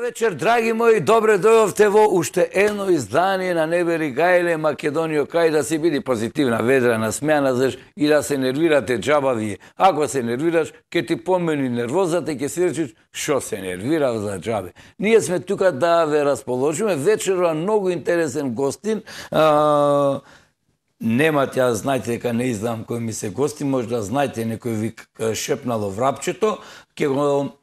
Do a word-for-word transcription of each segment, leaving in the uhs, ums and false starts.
вечер, драги мои, добре дојдовте во уште едно издание на Не бери гајле, Македонијо, кај да си биди позитивна, ведрена, смејана, заш и да се нервирате џаба вие. Ако се нервираш, ке ти помени нервозата и ке си речеш шо се нервирав за џабе. Ние сме тука да ве расположиме. Вечерва многу интересен гостин. А, немате, ја знајте дека не издам кој ми се гости, може да знајте некој ви шепнало врапчето, ке го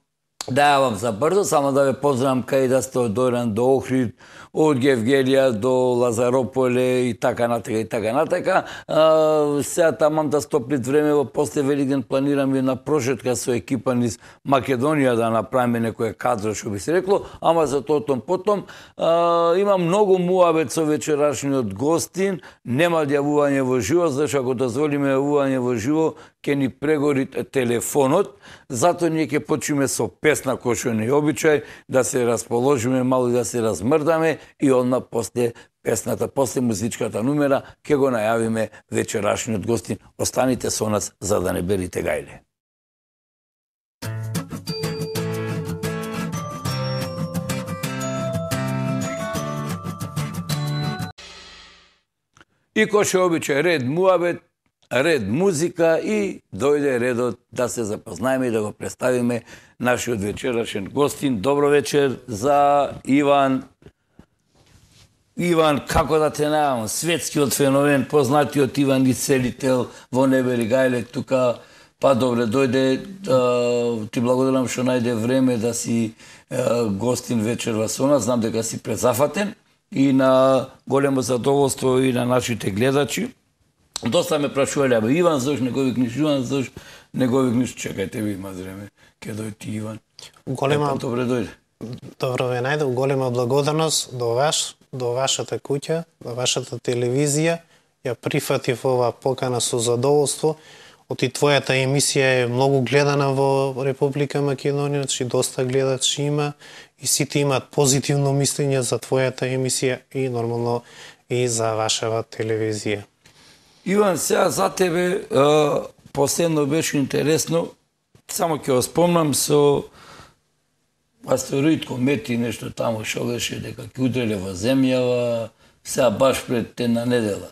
да јавам за брзо, само да ве поздравам кај да сте од Дојран до Охрид, од Гевгелија до Лазарополе и така натака и така натака. Сега тамам да стоплит време во после Великден планираме на прошетка со екипа низ Македонија да направиме некоја кадро, што би се рекло, ама за тотом потом. А, има многу муабет со вечерашниот гостин, нема јавување во живо, зашто ако дозволиме јавување во живо, ќе ни прегори телефонот, затоа ние ќе почнеме со песна кој што не е обичај, да се расположиме мало и да се размрдаме и одма после песната, после музичката numera ќе го најавиме вечерашниот гостин. Останите со нас за да не берите гајле. И кој што обичај ред муабет, ред музика и дојде редот да се запознаеме и да го представиме нашиот вечерашен гостин. Добро вечер за Иван. Иван, како да те најавам, светскиот феномен, познатиот Иван Ицелител во Не бери гајле тука. Па добре, дојде, а, ти благодарам што најде време да си а, гостин вечерва со нас. Знам дека си презафатен и на големо задоволство и на нашите гледачи. Доста ме прашувале, абе, Иван, зашто не го викниш, Иван, зашто не го викниш, чекајте ви, има време, ке дојде ти Иван. Голема... Епа, добре дојде. Добро ве најдов, голема благодарност до ваш, до вашата куќа, до вашата телевизија. Ја прифатив ова покана со задоволство. Оти твојата емисија е многу гледана во Република Македонија, значи доста гледачи има и сите имаат позитивно мислење за твојата емисија и нормално и за вашава телевизија. Иван, сега за тебе а, последно беше интересно, само ќе го спомнам со астероид, комети, нешто таму шо беше, дека ќе удреле во земјава, сега баш пред една недела.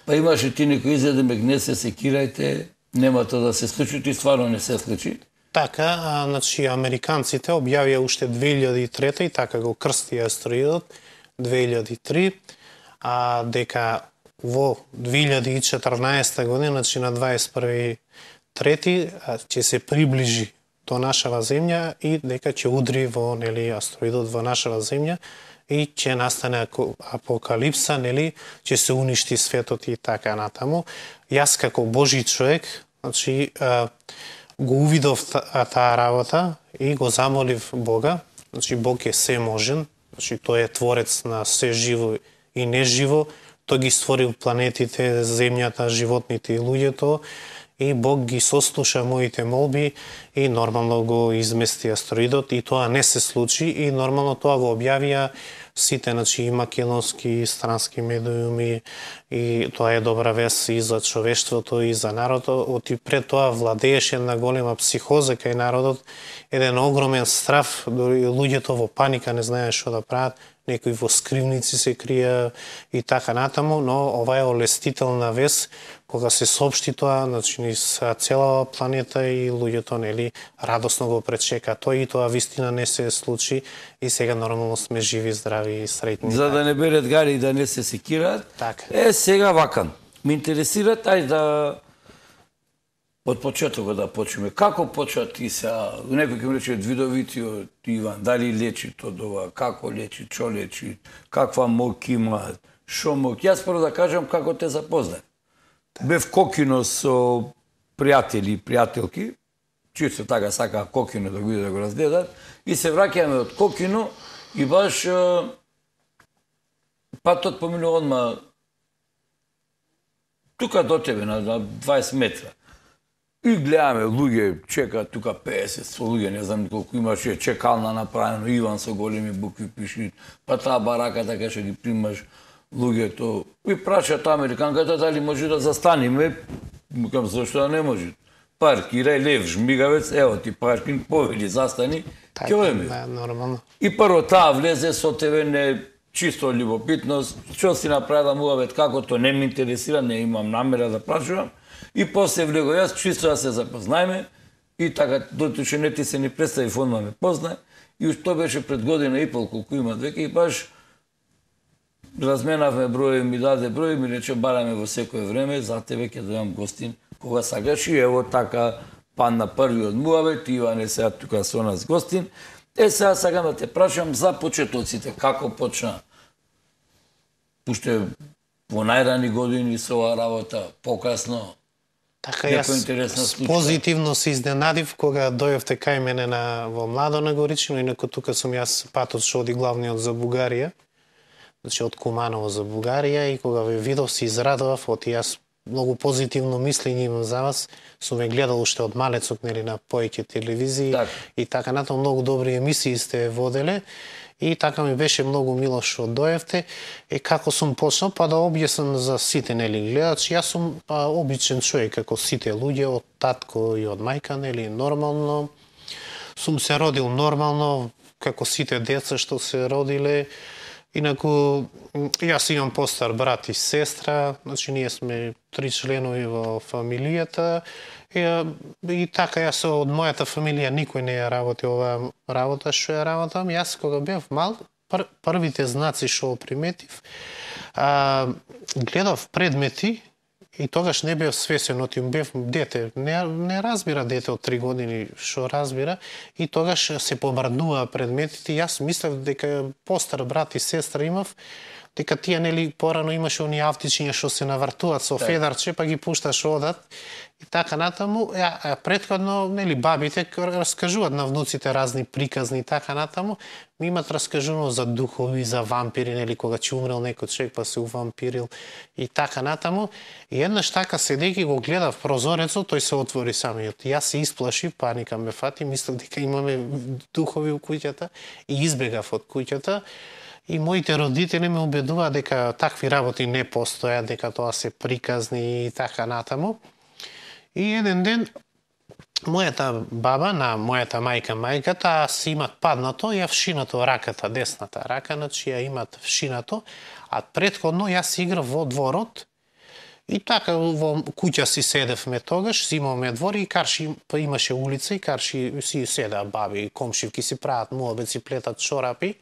Па имаше ти некој изглед, мек не се секирајте, нема тоа да се случи, ти стварно не се случи. Така, а, значи, американците објавија уште две илјади и трета и така го крсти астероидот две илјади и три, а дека во две илјади и четрнаесета година, значи на дваесет и први трети, ќе се приближи до нашава земја и дека ќе удри во, нели, астероидот во нашава земја и ќе настане апокалипса, нели, ќе се уништи светот и така натаму. Јас како Божи човек, значи, го увидов таа работа и го замолив Бога, значи Бог е семожен, значи тој е творец на се живо и неживо. Тој ги створил планетите, земјата, животните и луѓето и Бог ги сослуша моите молби и нормално го измести астероидот и тоа не се случи и нормално тоа го објавија сите, значи и македонски и странски медиуми и тоа е добра вест и за човештвото и за народот. Оти пред тоа владееше една голема психоза кај народот, еден огромен страф, дори луѓето во паника не знаеа што да прават, некои во скривници се крија и така натаму, но ова е олестителна вест кога се соопшти тоа, значи низ цела планета и луѓето, нели, радосно го пречека тој и тоа вистина не се случи и сега нормално сме живи, здрави и среќни. За да не берат гари и да не се секираат. Така. Е, сега вакан. Ме интересира тај да од почетокот да почнеме. Како почна ти сега, некој ќе ми рече видовитиот Иван, дали лечи тоа ова, како лечи, што лечи, каква мок има, шо мок. Јас прво да кажам како те запознав. Бев кокино со пријатели и пријателки, чисто така сака кокино да го иде да го разгледат, и се враќаме од кокино и баш патот поминува одма тука до тебе на дваесет метра. И гледаме луѓе, чекаат тука пеесет со луѓе, не знам колку имаше чекална направено, Иван со големи букви пиши, па таа барака така што ги примаш луѓето. И прашат американката дали може да застаниме, мукам зашто да не може. Паркирај лев, жмигавец, ево ти паркинг, повели, застани Така, Ќе ми. да, нормално. И прво таа влезе со тебе не чисто љубопитност, што си направила муавет, како то не ме интересира, не имам намера да прашувам. И после влего јас чисто да се запознаеме и така дотуче не ти се ни представи фонма ме познае и уж тоа беше пред година и пол колку има веќе и баш разменавме број, ми даде број, ми рече бараме во секое време, за тебе ќе дојам гостин кога сакаш и ево така падна првиот муавет, Иване сега тука со нас гостин. Е, сега сакам да те прашам за почетоците, како почна? Уште во најрани години со оваа работа, покасно? Така јас позитивно се изненадив кога дојавте кај мене на во Младо на Горичино, инаку тука сум јас патот што оди главниот за Бугарија, значи од Куманово за Бугарија и кога ве видов се израдував, оти јас многу позитивно мислење имам за вас, сум ве гледал уште од малецот нели на поеќе телевизии так. И така натаму многу добри емисии сте воделе. И така ми беше многу мило што доевте. И како сум почнал, па да објаснам за сите нели гледачи, јас сум па, обичен човек како сите луѓе, од татко и од мајка, нели нормално. Сум се родил нормално, како сите деца што се родиле. Инаку, јас имам постар брат и сестра, значи ние сме три членови во фамилијата. И, и така, јас од мојата фамилија никој не ја работи оваа работа што ја работам. Јас кога бев мал, пр, првите знаци што приметив, а, гледав предмети и тогаш не бев свесен, оти бев дете. Не, не разбира дете од три години што разбира и тогаш се помрднуваа предметите. Јас мислев дека постар брат и сестра имав, дека тие нели порано имаше оние автичиња што се навртуваат со федарче, па ги пушташ одат. И така натаму, ја, претходно, нели, бабите раскажуваат на внуците разни приказни и така натаму, ми имат раскажувано за духови, за вампири, нели, кога ќе умрел некој човек па се увампирил и така натаму. И еднаш така седејќи го гледав прозорецот, тој се отвори самиот. Јас се исплашив, паника ме фати, мислев дека имаме духови у куќата и избегав од куќата. И моите родители ме убедуваат дека такви работи не постојат, дека тоа се приказни и така натаму. И еден ден, мојата баба, на мојата мајка, мајката, си имат паднато, ја вшинато раката, десната рака, значи ја имат вшинато, а предходно јас играв во дворот, и така во куќа си седевме тогаш, си имаме двор и карши, па имаше улица и карши си седа баби, комшивки си прават муабет, си плетат чорапи,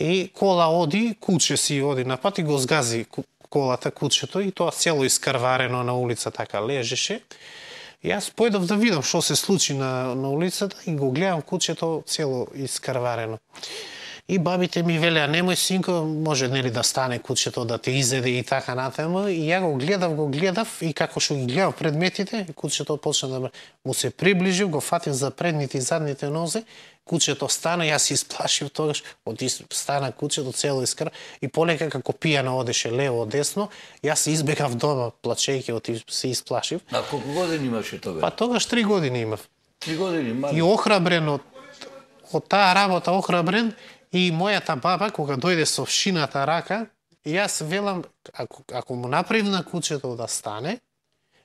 и кола оди, куче си оди на пат и го згази колата, кучето, и тоа цело искрварено на улица така лежеше. И јас појдов да видам што се случи на, на улицата и го гледам кучето цело искрварено. И бабите ми велеа, немој синко, може нели да стане кучето да те изеде и така натаму. И ја го гледав, го гледав и како што ги гледав предметите, кучето почна да му се приближив, го фатив за предните и задните нозе, кучето стана, јас се исплашив тогаш, од стана кучето цело искр и полека како пијано одеше лево десно, јас се избегав дома плачејќи, од се исплашив. А колку години имаше тогаш? Па тогаш три години имав. Три години, мали. И охрабрен од, од таа работа, охрабрен, и мојата баба кога дојде со вшината рака, јас велам ако ако му направив на кучето да стане,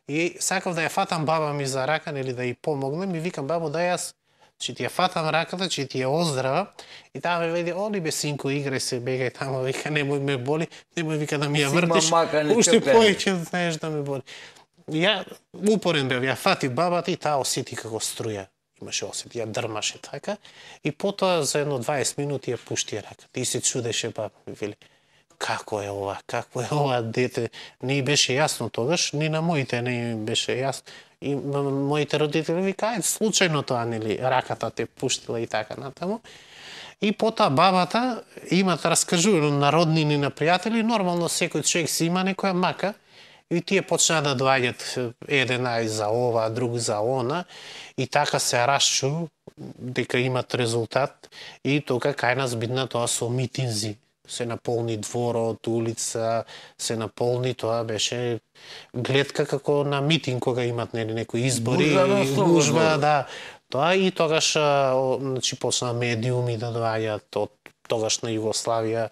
и сакав да ја фатам баба ми за рака, нели да ја помогнем, и викам бабо да јас че ти ја фатам раката, че ти ја оздрава, и таа ме веди, оди бе синко, играј се, бегај тамо, вика, немој ме боли, немој вика да ми ја вртиш, уште поеќе знаеш да ме боли. Ја упорен бев, ја фатив бабата и таа осети како струја. Имаше осет, ја дрмаше така, и потоа за едно дваесет минути ја пушти раката. И се чудеше баба ми, вели, како е ова, како е ова дете, не беше јасно тогаш, ни на моите не беше јасно. И моите родители викаат, случајно тоа, нели, раката те пуштила и така натаму. И потоа бабата имат раскажувано на роднини, на пријатели, нормално секој човек си има некоја мака, и тие почнаа да доаѓат еден ај за ова, друг за она, и така се расчу дека имат резултат, и тука кај нас бидна тоа со митинзи. Се наполни дворот, улица, се наполни, тоа беше гледка како на митинг кога имат нели некои избори, гужва, да. Тоа и тогаш значи почна медиуми да доаѓаат од тогашна Југославија,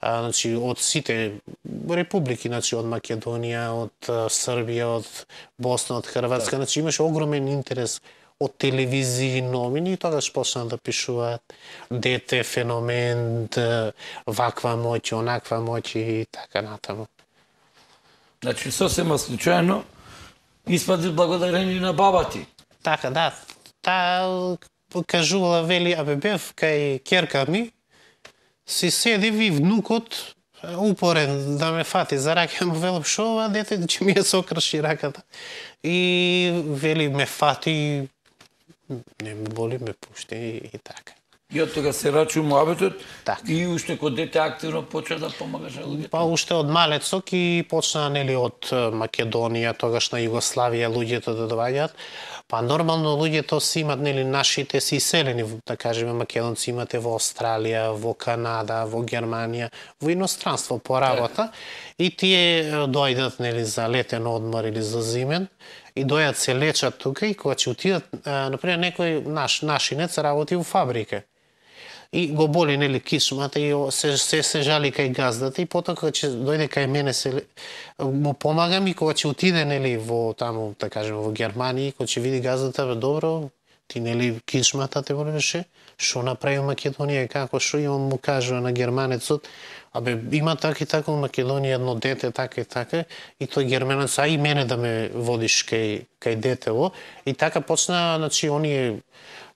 а, значи од сите републики, значи од Македонија, од Србија, од Босна, од Хрватска, значи имаше огромен интерес од телевизии, новини, и тогаш почнаа да пишуваат дете, феномен, ваква моќ, онаква моќ и така натаму. Значи, сосема случајно испади благодарение на баба ти. Така, да. Таа кажувала, вели, абе бев кај ќерка ми, си седи ви внукот, упорен да ме фати за рака, му велам, шо ова дете, че ми ја сокрши раката. И вели, ме фати, не ме боли, ме пушти и така. И од тога се рачу муабетот и уште кога дете активно почна да помагаш на луѓето. Па уште од малецок и почна, нели, од Македонија, тогаш на Југославија луѓето да доаѓаат. Па нормално луѓето си имат, нели, нашите си иселени, да кажеме, македонци имате во Австралија, во Канада, во Германија, во иностранство по работа, и тие доаѓаат, нели, за летен одмор или за зимен, и дојат се лечат тука, и кога ќе отидат, например, некој наш нашинец работи во фабрика и го боли, нели, кичмата и се, се, се жали кај газдата, и потоа кога ќе дојде кај мене се му помагам, и кога ќе отиде, нели, во таму, да кажеме, во Германија, кога ќе види газдата, бе, добро, ти, нели, кичмата те болеше, што направи Македонија, како, што имам, му кажува на германецот, абе, има така и така во Македонија едно дете, така и така, и тој германец, а и мене да ме водиш кај, кај детево, и така почна, значи, оние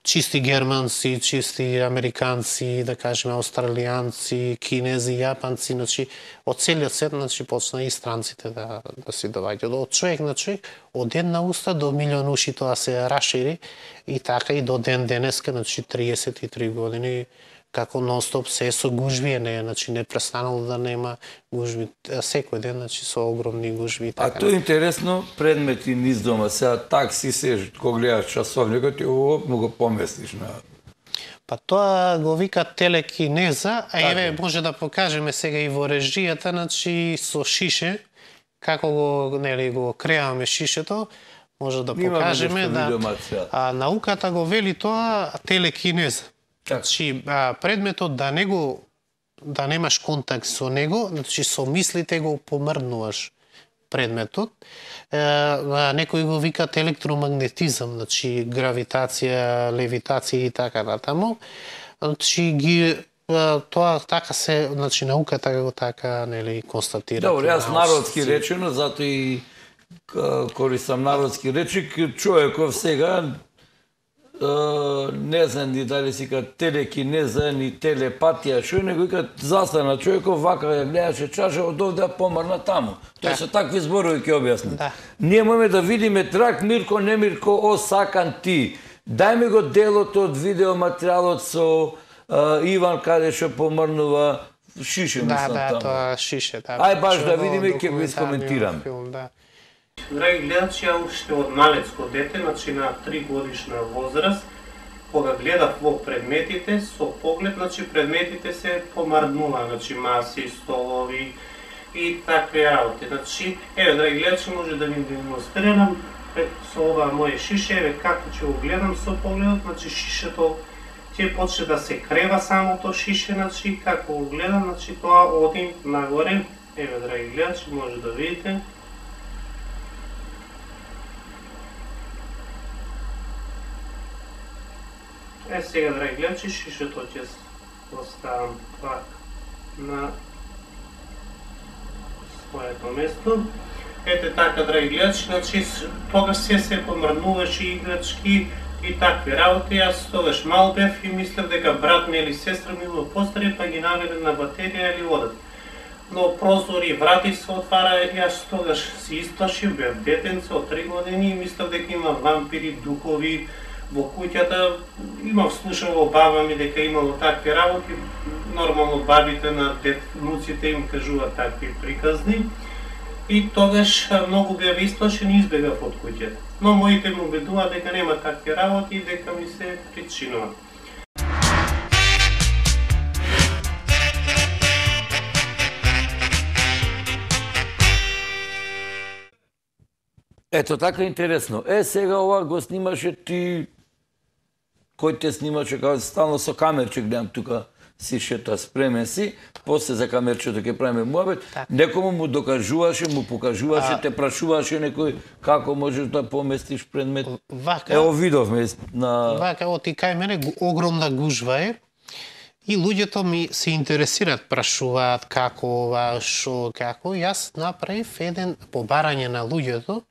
чисти германци, чисти американци, да кажеме, австралијанци, кинези, јапанци, значи, од целиот свет, значи, почна и странците да, да си доаѓаат. Од човек на човек, од една уста до милион уши тоа се рашири, и така и до ден денеска, значи, триесет и три години, како нон-стоп се со гужви, не, значи, не престанало да нема гужви, секој ден, значи, со огромни гужви. А тоа е интересно, предмети низ дома, сега такси се, кога гледаш часовникот, и ово му го поместиш на... Па тоа го вика телекинеза, а еве може да покажеме сега и во режијата, значи, со шише, како го, нели, го креаме шишето, може да покажеме, да, а науката го вели тоа телекинеза. Значи, предметот да не го, да немаш контакт со него, значи со мислите го помрднуваш предметот. Е, некој го викат електромагнетизам, значи гравитација, левитација и така натаму. Значи ги тоа така се, значи науката го така, нели, констатира. Добро, јас народски речено, затоа и користам народски речи, човеков сега не знам ни дали си ка телекинеза, ни телепатија, што него вика застана човеков, вака ја гледаше чаша, од овде помрна таму. Тоа со такви зборови ќе објасни. Да. Ние можеме да видиме трак Мирко, не Мирко, о сакан ти. Дај ми го делото од видеоматеријалот со а, Иван каде што помрнува шише, да, мислам да, таму. Да, тоа шише, да. Ај баш да видиме и ќе го искоментираме. Да. Драги гледачи, ја уште од малецко дете, значи на три годишна возраст, кога гледав во предметите, со поглед, значи предметите се помрднува, значи маси, столови и такви работи. Значи, еве, драги гледачи, може да ви демонстрирам со ова моје шише, еве како ќе го гледам со погледот, значи шишето ќе почне да се крева самото шише, значи како го гледам, значи тоа оди нагоре, еве, драги гледачи, може да видите. Е, сега, драги гледачи, шишето ќе оставам пак на своето место. Ете така, драги гледачи, значи тогаш се се помрднуваше играчки и такви работи. Јас тогаш мал бев и мислев дека брат ми или сестра ми го постари, па ги наведе на батерија или одат. Но прозори, врати се отвара, јас тогаш се исплашив, бев детенце од три години и мислев дека има вампири, духови во куќата. Имав слушал во баба ми дека имало такви работи, нормално бабите на дет, внуците им кажуваат такви приказни. И тогаш многу бев исплашен и избегав од куќата. Но моите му убедуваат дека нема такви работи и дека ми се причинува. Ето така интересно. Е, сега ова го снимаше ти, кој те снимаше, као стално со камерче гледам тука, си шета, спремен си, после за камерчето ќе правиме муабет, некому му докажуваше, му покажуваше, те прашуваше некој како можеш да поместиш предмет. Ево видовме на... Вака, оти кај мене огромна гужва е, и луѓето ми се интересираат, прашуваат како ова, шо, како. Јас направив еден побарање на луѓето,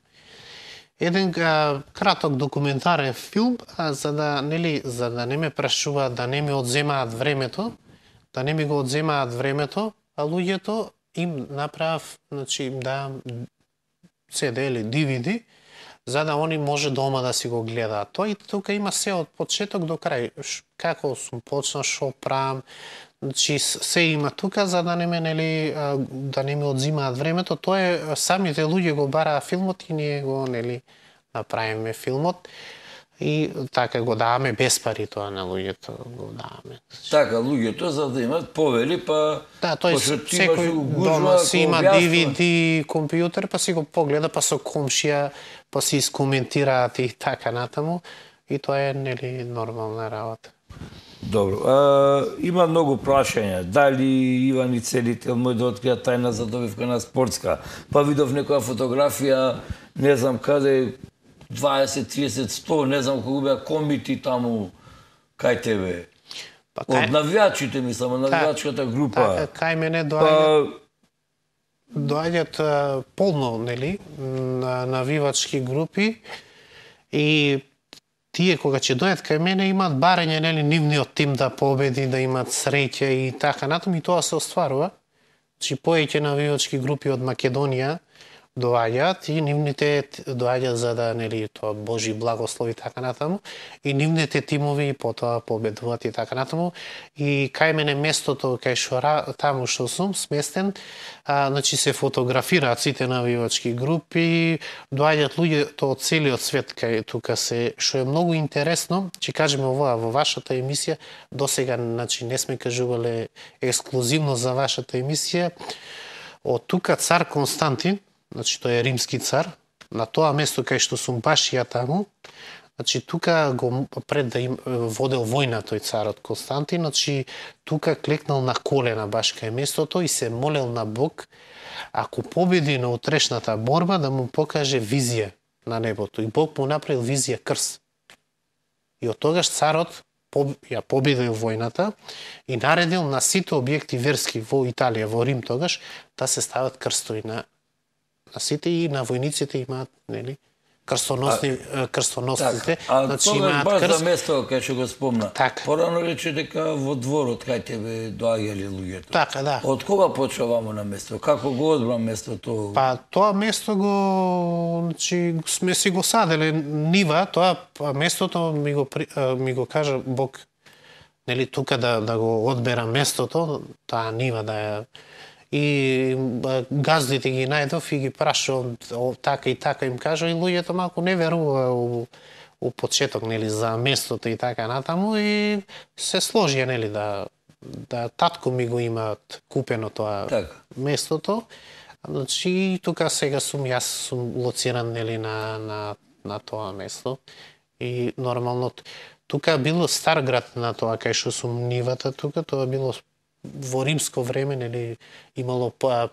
еден а, краток документарен филм, а, за да нели за да не ме прашуваат, да не ми одземаат времето, да не ми го одземаат времето, а луѓето им направив, значи им давам си ди или ди ви ди, за да они може дома да си го гледаат. Тој тука има се од почеток до крај. Како сум почнал, шо правам, значи се има тука за да не ме нели да не ми одзимаат времето. Тоа е самите луѓе го бараа филмот и ние го нели направиме филмот. И така го даваме без пари тоа на луѓето, го даваме. Така, луѓето за да имат повели, па... Да, тој секој дома си има ди ви ди компјутер, па си го погледа, па со комшија, па си искоментираат и така натаму. И тоа е, нели, нормална работа. Добро. А, има многу прашања. Дали Иван и Целител мој да открија тајна за добивка на спортска? Па видов некоја фотографија, не знам каде, дваесет, триесет, сто, не знам кога беа комити таму кај тебе. Па, кај... Од навијачите, мислам, од навијачката група. Така, кај мене доаѓаат, па... доаѓаат полно, нели, на навивачки групи и тие кога ќе дојдат кај мене имаат барање, нели, нивниот тим да победи, да имаат среќа и така натаму, и тоа се остварува. Значи повеќе навивачки групи од Македонија доаѓаат и нивните доаѓаат за да, нели, тоа Божи благослови и така натаму, и нивните тимови потоа победуваат и така натаму. И кај мене местото кај што таму што сум сместен, а, значи се фотографираат сите навивачки групи, доаѓаат луѓето од целиот свет кај тука се, што е многу интересно. Ќе кажеме ова во вашата емисија, досега, значи не сме кажувале ексклузивно за вашата емисија. Од тука цар Константин, значи тој е римски цар, на тоа место кај што сум баш ја таму, значи тука го пред да им водел војна тој царот Константин, значи тука клекнал на колена баш кај местото и се молел на Бог, ако победи на утрешната борба, да му покаже визија на небото. И Бог му направил визија крст. И од тогаш царот ја победил војната и наредил на сите објекти верски во Италија, во Рим тогаш, да се стават крстови на на сите и на војниците имаат, нели, крстоносни а, крстоносците, така, значи а имаат баш крст. за место кај што го спомна. Така. Порано рече дека во дворот кај тебе доаѓале луѓето. Така, да. Од кога почва вамо на место? Како го одбра местото? Па тоа место го, значи сме си го саделе нива, тоа местото ми го ми го кажа Бог, нели, тука да да го одбера местото, таа нива да ја. И газдите ги најдов и ги прашав така и така им кажа, и луѓето малку не верува у, у почеток, нели, за местото и така натаму, и се сложија, нели, да да татко ми го имаат купено тоа така. Местото. Значи тука сега сум јас сум лоциран, нели, на на на тоа место. И нормално тука било стар град на тоа кај што сум нивата тука, тоа било во римско време, нели, имало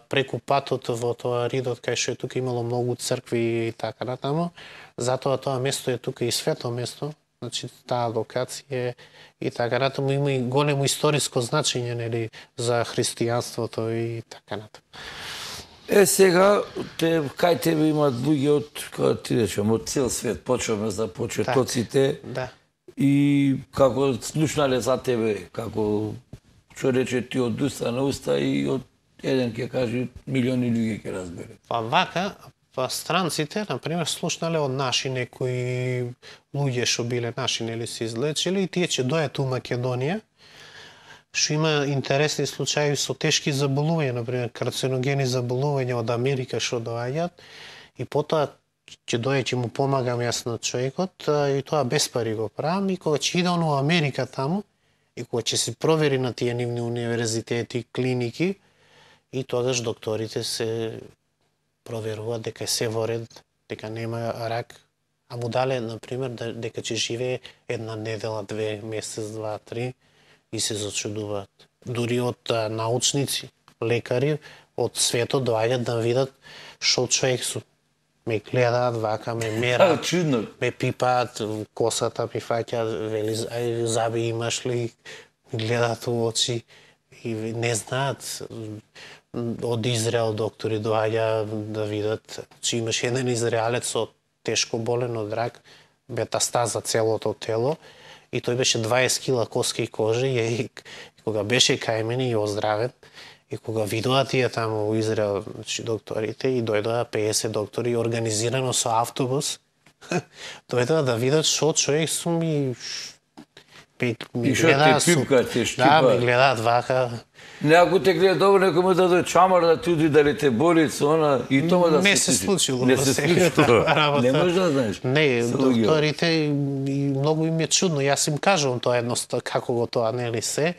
преку патот во тоа ридот кај што е тука имало многу цркви и така натаму. Затоа тоа место е тука и свето место, значи таа локација и така натаму има и големо историско значење, нели, за христијанството и така натаму. Е, сега, те, кај тебе имаат луѓе од, како ти речем, од цел свет, почваме за почетоците, да. И како слушнале за тебе, како што рече ти од уста на уста и од еден ќе каже милиони луѓе ќе разбере. Па вака, па странците, например, слушнале од наши некои луѓе што биле наши, нели, се излечили и тие ќе дојат у Македонија, што има интересни случаи со тешки заболувања, например, карциногени заболувања од Америка што доаѓаат и потоа ќе дојде, ќе му помагам јас на човекот и тоа без пари го правам и кога ќе иде он во Америка таму и кога ќе се провери на тие нивни универзитети, клиники, и тогаш докторите се проверуваат дека се во ред, дека нема рак, а му дале, например, дека ќе живее една недела, две, месец, два, три, и се зачудуваат. дури од а, научници, лекари од светот доаѓаат да видат што човек сум. Ме гледаат вака, ме мерат, чудно. ме пипаат, косата ми фаќаат, вели, ај, заби имаш ли, гледаат у очи и не знаат. Од Израел доктори доаѓа да видат, че имаш еден израелец со тешко болен од рак, метастаза целото тело, и тој беше дваесет кила коска и кожа, и, и кога беше кај мене и оздравен, и кога видоа тие таму во Израел, значи, докторите, и дојдоа пеесет доктори организирано со автобус, дојдоа да видат што човек сум и ми, ми И што гледаат те со- пипка, те Да, штипа? ми гледаат вака. Не, ако те гледа добро, некој му даде чамар да туди дали те боли со она и тоа да Не се случило Не во се сега случило. таква работа. Не можеш да знаеш. Не, Се луѓе. докторите и многу им е чудно. Јас им кажувам тоа едноставно како го тоа нели се,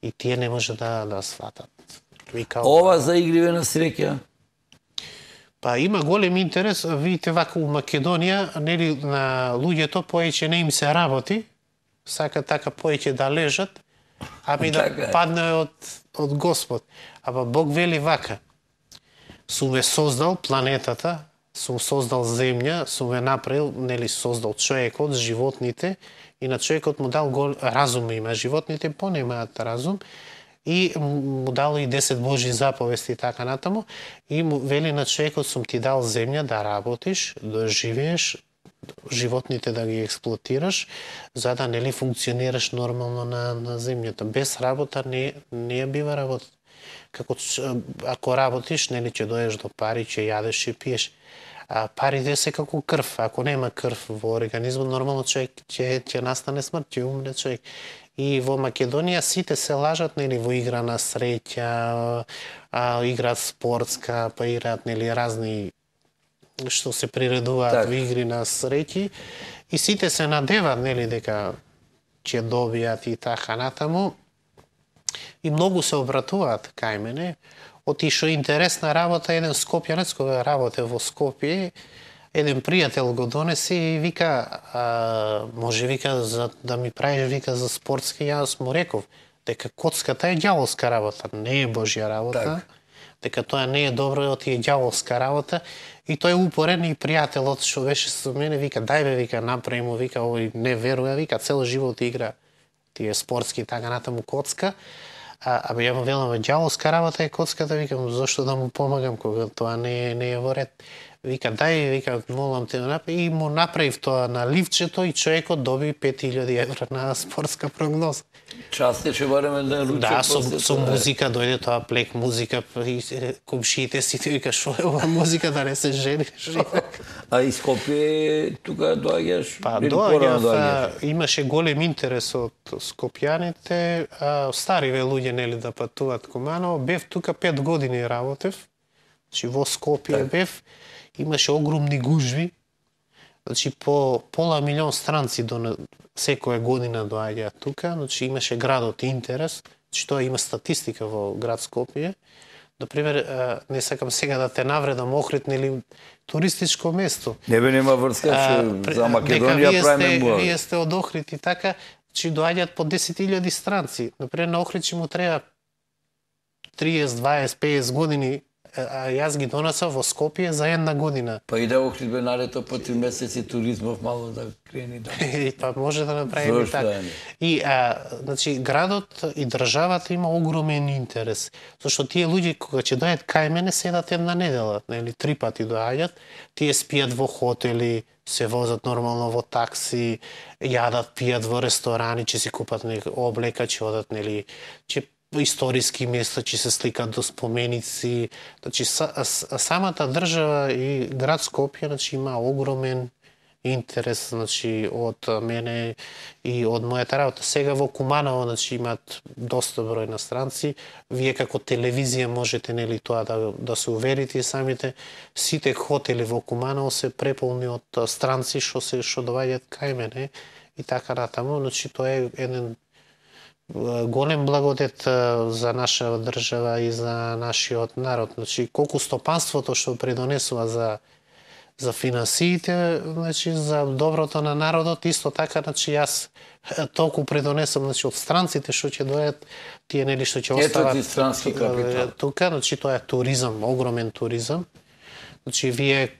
и тие не може да да сватат. Вика, Ова за игриве на среќа. па има голем интерес, видите вака у Македонија, нели на луѓето поеќе не им се работи, сака така поеќе да лежат, ами да Така е. падне од од Господ. Ама Бог вели вака: сум ве создал планетата, сум создал земја, сум ве направил, нели создал човекот, животните, и на човекот му дал гол разум има, животните понемаат разум, и му дал и десет Божи заповести и така натаму, и му вели на човекот сум ти дал земја да работиш, да живееш, животните да ги експлоатираш, за да нели функционираш нормално на, на земјата. Без работа не, не ја бива работа. Како ч- ако работиш, нели ќе доеш до пари, ќе јадеш, ќе пиеш. А парите се како крв. Ако нема крв во организмот, нормално човек ќе ќе настане смрт, ќе умре човек. И во Македонија сите се лажат, нели, во игра на среќа, а, играат спортска, па играат, нели, разни што се приредуваат Так. во игри на среќи, и сите се надеваат, нели, дека ќе добијат и така натаму. И многу се обратуваат кај мене. Оти што интересна работа, еден скопјанец кога работе во Скопје, еден пријател го донесе и вика, а, може вика за да ми правиш вика за спортски, јас му реков дека коцката е ѓаволска работа, не е Божја работа. Так. Дека тоа не е добро, оти е ѓаволска работа, и тој упорен и пријателот што беше со мене вика дај бе вика направи му вика овој не верува вика цел живот игра тие спортски и така натаму коцка. А, абе ја му велам ѓаволска работа е коцката, викам зошто да му помагам кога тоа не е не е во ред. Вика дај вика молам те да направи, и му направив тоа на ливчето и човекот доби пет илјади евра на спортска прогноза. Час ќе бареме да руче. Да, со, после со тоа. музика дојде тоа плек музика, и е, комшиите сите вика што е ова музика да не се жениш. А и Скопје тука доаѓаш? Па или порано доаѓав, а, имаше голем интерес од скопјаните, а, стариве луѓе нели да патуваат Куманово, бев тука пет години работев. Значи во Скопје Так. бев, имаше огромни гужви. Значи по пола милион странци до секоја година доаѓаат тука, значи имаше градот интерес, значи тоа има статистика во град Скопје. Например, а, не сакам сега да те навредам, Охрид нели туристичко место. Не бе нема врска, А, што пре- за дека Македонија вие правиме сте, муа. вие сте од Охрид и така, че доаѓаат по десет илјади странци. Например, на Охрид ќе му треба триесет, дваесет, песет години, а јас ги донесов во Скопје за една година. Па и да Охрид бе налето по три месеци туризмов мало да крени да. И па може да направиме Зошто така. не? И а, значи градот и државата има огромен интерес, зашто тие луѓе кога ќе дојдат кај мене седат една недела, нели три пати доаѓаат, тие спијат во хотели, се возат нормално во такси, јадат, пијат во ресторани, ќе си купат нека облека, ќе одат нели, ќе историски места, ќе се сликат до споменици. Значи са, с- самата држава и град Скопје значи има огромен интерес значи од мене и од мојата работа. Сега во Куманово значи имаат доста број на странци. Вие како телевизија можете нели тоа да да се уверите и самите. Сите хотели во Куманово се преполни од а, странци што се што доаѓаат кај мене и така натаму. Значи тоа е еден а, голем благодет а, за наша држава и за нашиот народ. Значи колку стопанството што придонесува за за финансиите, значи за доброто на народот, исто така, значи јас толку предонесам, значи од странците што ќе дојдат, тие нели што ќе остават. Ето ти странски капитал. Тука, значи тоа е туризам, огромен туризам. Значи вие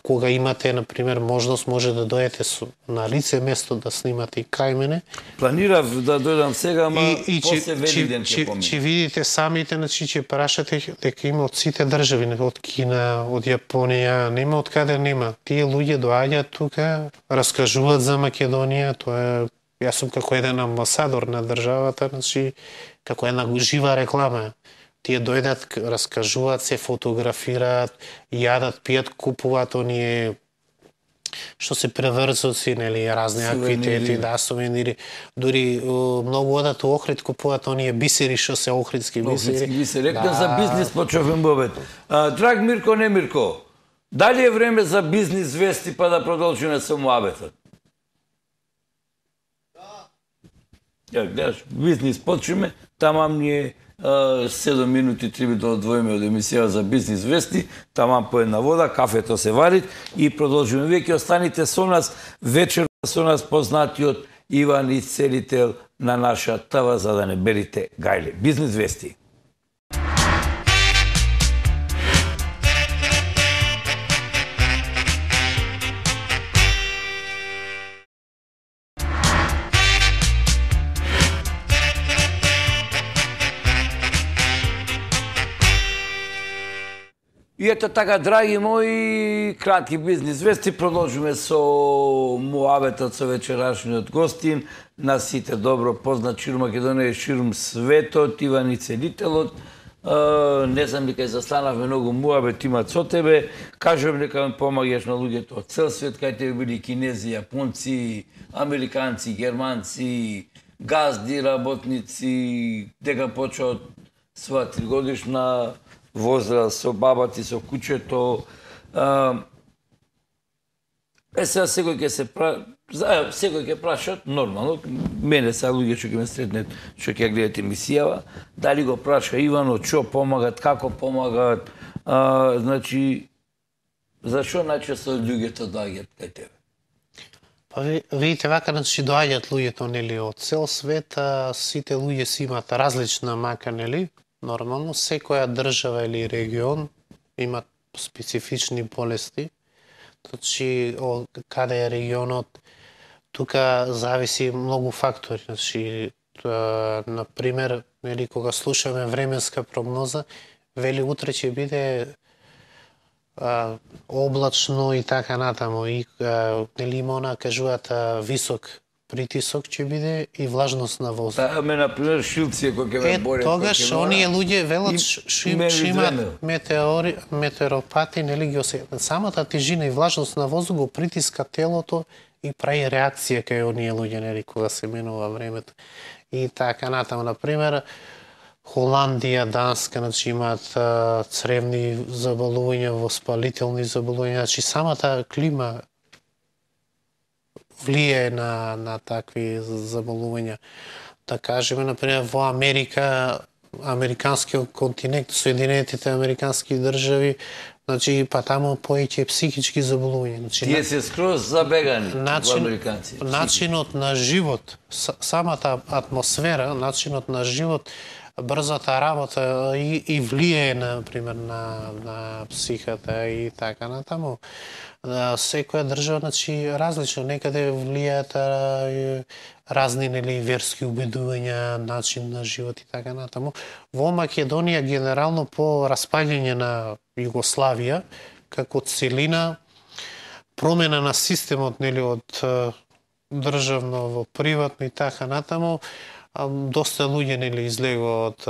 кога имате на пример можност може да дојдете со, на лице место да снимате и кај мене. Планирав да дојдам сега, ама и, и после Велиден ќе поминам. Ќе видите самите, значи ќе прашате дека има од сите држави, од Кина, од Јапонија, нема од каде нема. Тие луѓе доаѓаат тука, раскажуваат за Македонија, тоа е, јас сум како еден амбасадор на државата, значи како една жива реклама. Тие дојдат, раскажуваат се, фотографираат, јадат, пијат, купуваат оние што се преврзоци, нели, разни аквитети, да, сувенири. Дури многу одат у Охрид, купуваат оние бисери што се охридски бисери. Охридски бисери. Рекна за бизнис почовен бобет. Драг Мирко, не Мирко, дали е време за бизнис вести па да продолжиме со муабетот? Ја, гледаш, бизнис почваме, тамам ние седум минути треба да одвоиме од емисија за бизнис вести, тамам по една вода, кафето се вари и продолжуваме. Вие ќе останете со нас вечер, со нас познатиот Иван Исцелител на наша ТВ, за да не берите гајле. Бизнис вести. И ето така, драги мои, кратки бизнис вести, продолжиме со муабетот со вечерашниот гостин, на сите добро познат ширум Македонија и ширум светот, Иван Ицелителот. Не знам дека застанавме многу муабет имат со тебе, кажувам дека ми помагаш на луѓето од цел свет, кај тебе били кинези, јапонци, американци, германци, газди, работници, дека почва од своја тригодишна возраст, со баба ти, со кучето. Е, сега секој ќе се пра... секој ќе прашат, нормално, мене сега луѓе што ќе ме сретнет, што ќе гледат емисијава, дали го праша Ивано, што помагат, како помагат, а, значи, зашо најчесто луѓето доаѓаат кај тебе? Па видите, вака значи доаѓаат луѓето, нели, од цел свет, а сите луѓе си имаат различна мака, нели? Нормално, секоја држава или регион имат специфични болести. Значи, од каде е регионот, тука зависи многу фактори. Значи, на пример, нели, кога слушаме временска прогноза, вели утре ќе биде а, облачно и така натаму. И, а, нели, има она, кажуваат, висок притисок ќе биде и влажност на воздух. Да, ме, например, Шилција, кој ќе ме борят. Е, тогаш оние луѓе велат што имаат метеори, метеоропати, нели ги осетат. Самата тежина и влажност на воздух го притиска телото и прави реакција кај оние луѓе, нели, кога се менува времето. И така натаму, например, Холандија, Данска, значи имаат цревни заболувања, воспалителни заболувања, значи самата клима влијае на, на такви заболувања. Да кажеме, например, во Америка, американскиот континент, Соединетите американски држави, значи, па таму поеќе психички заболувања. Значи, тие се скроз забегани начин, во американци. Начинот на живот, самата атмосфера, начинот на живот, брзата работа и, и влијае, например, на, на психата и така натаму. Секоја држава, значи, различно, некаде влијаат разни, нели, верски убедувања, начин на живот и така натаму. Во Македонија, генерално, по распаѓање на Југославија, како целина, промена на системот, нели, од државно во приватно и така натаму, доста луѓе, нели, излегува од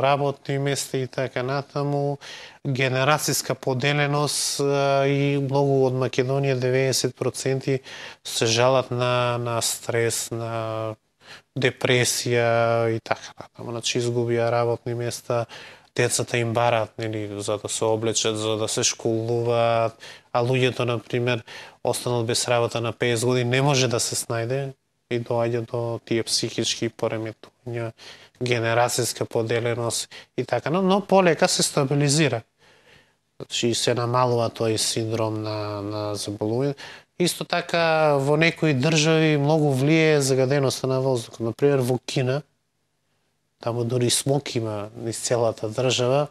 работни места и така натаму, генерацијска поделеност и многу од Македонија, деветдесет проценти, се жалат на, на стрес, на депресија и така натаму. Значи, изгубија работни места, децата им бараат, нели, за да се облечат, за да се школуваат, а луѓето, например, останат без работа на петдесет години, не може да се снајде и доаѓа до тие психички пореметувања, генерацијска поделеност и така, но, но полека се стабилизира. Значи се намалува тој синдром на, на заболување. Исто така во некои држави многу влие загаденоста на воздухот. Например во Кина, таму дури смок има низ целата држава,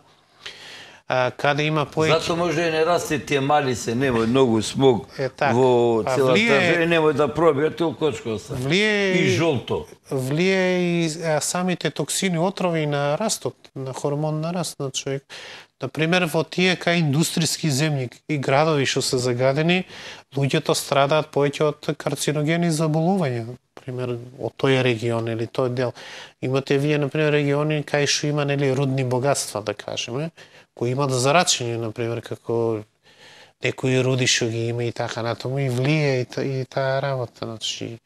а, каде има поеќе... Зато може и не расте тие мали се, немој многу смог Е, так. во А целата влие- држава, немој да пробија толкочко оста. Влие И жолто. влие и а, самите токсини, отрови на растот, на хормон на раст на човек. Например, во тие кај индустријски земји и градови што се загадени, луѓето страдаат повеќе од карциногени заболувања. Например, од тој регион или тој дел. Имате вие, например, региони кај што има нели рудни богатства, да кажеме, кои имат зарачени, например, како некои руди што ги има и така натаму, и влие и, та, и таа работа. Значи,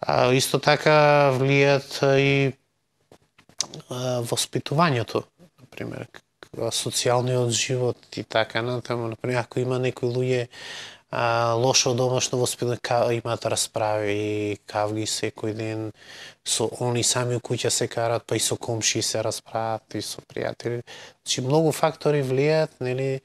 а, исто така влијат и а, воспитувањето, например, социјалниот живот и така натаму. Например, ако има некои луѓе а, лошо домашно воспитание, имаат расправи, кавги секој ден, со они сами у куќа се карат, па и со комши се расправат, и со пријатели. Значи, многу фактори влијаат, нели,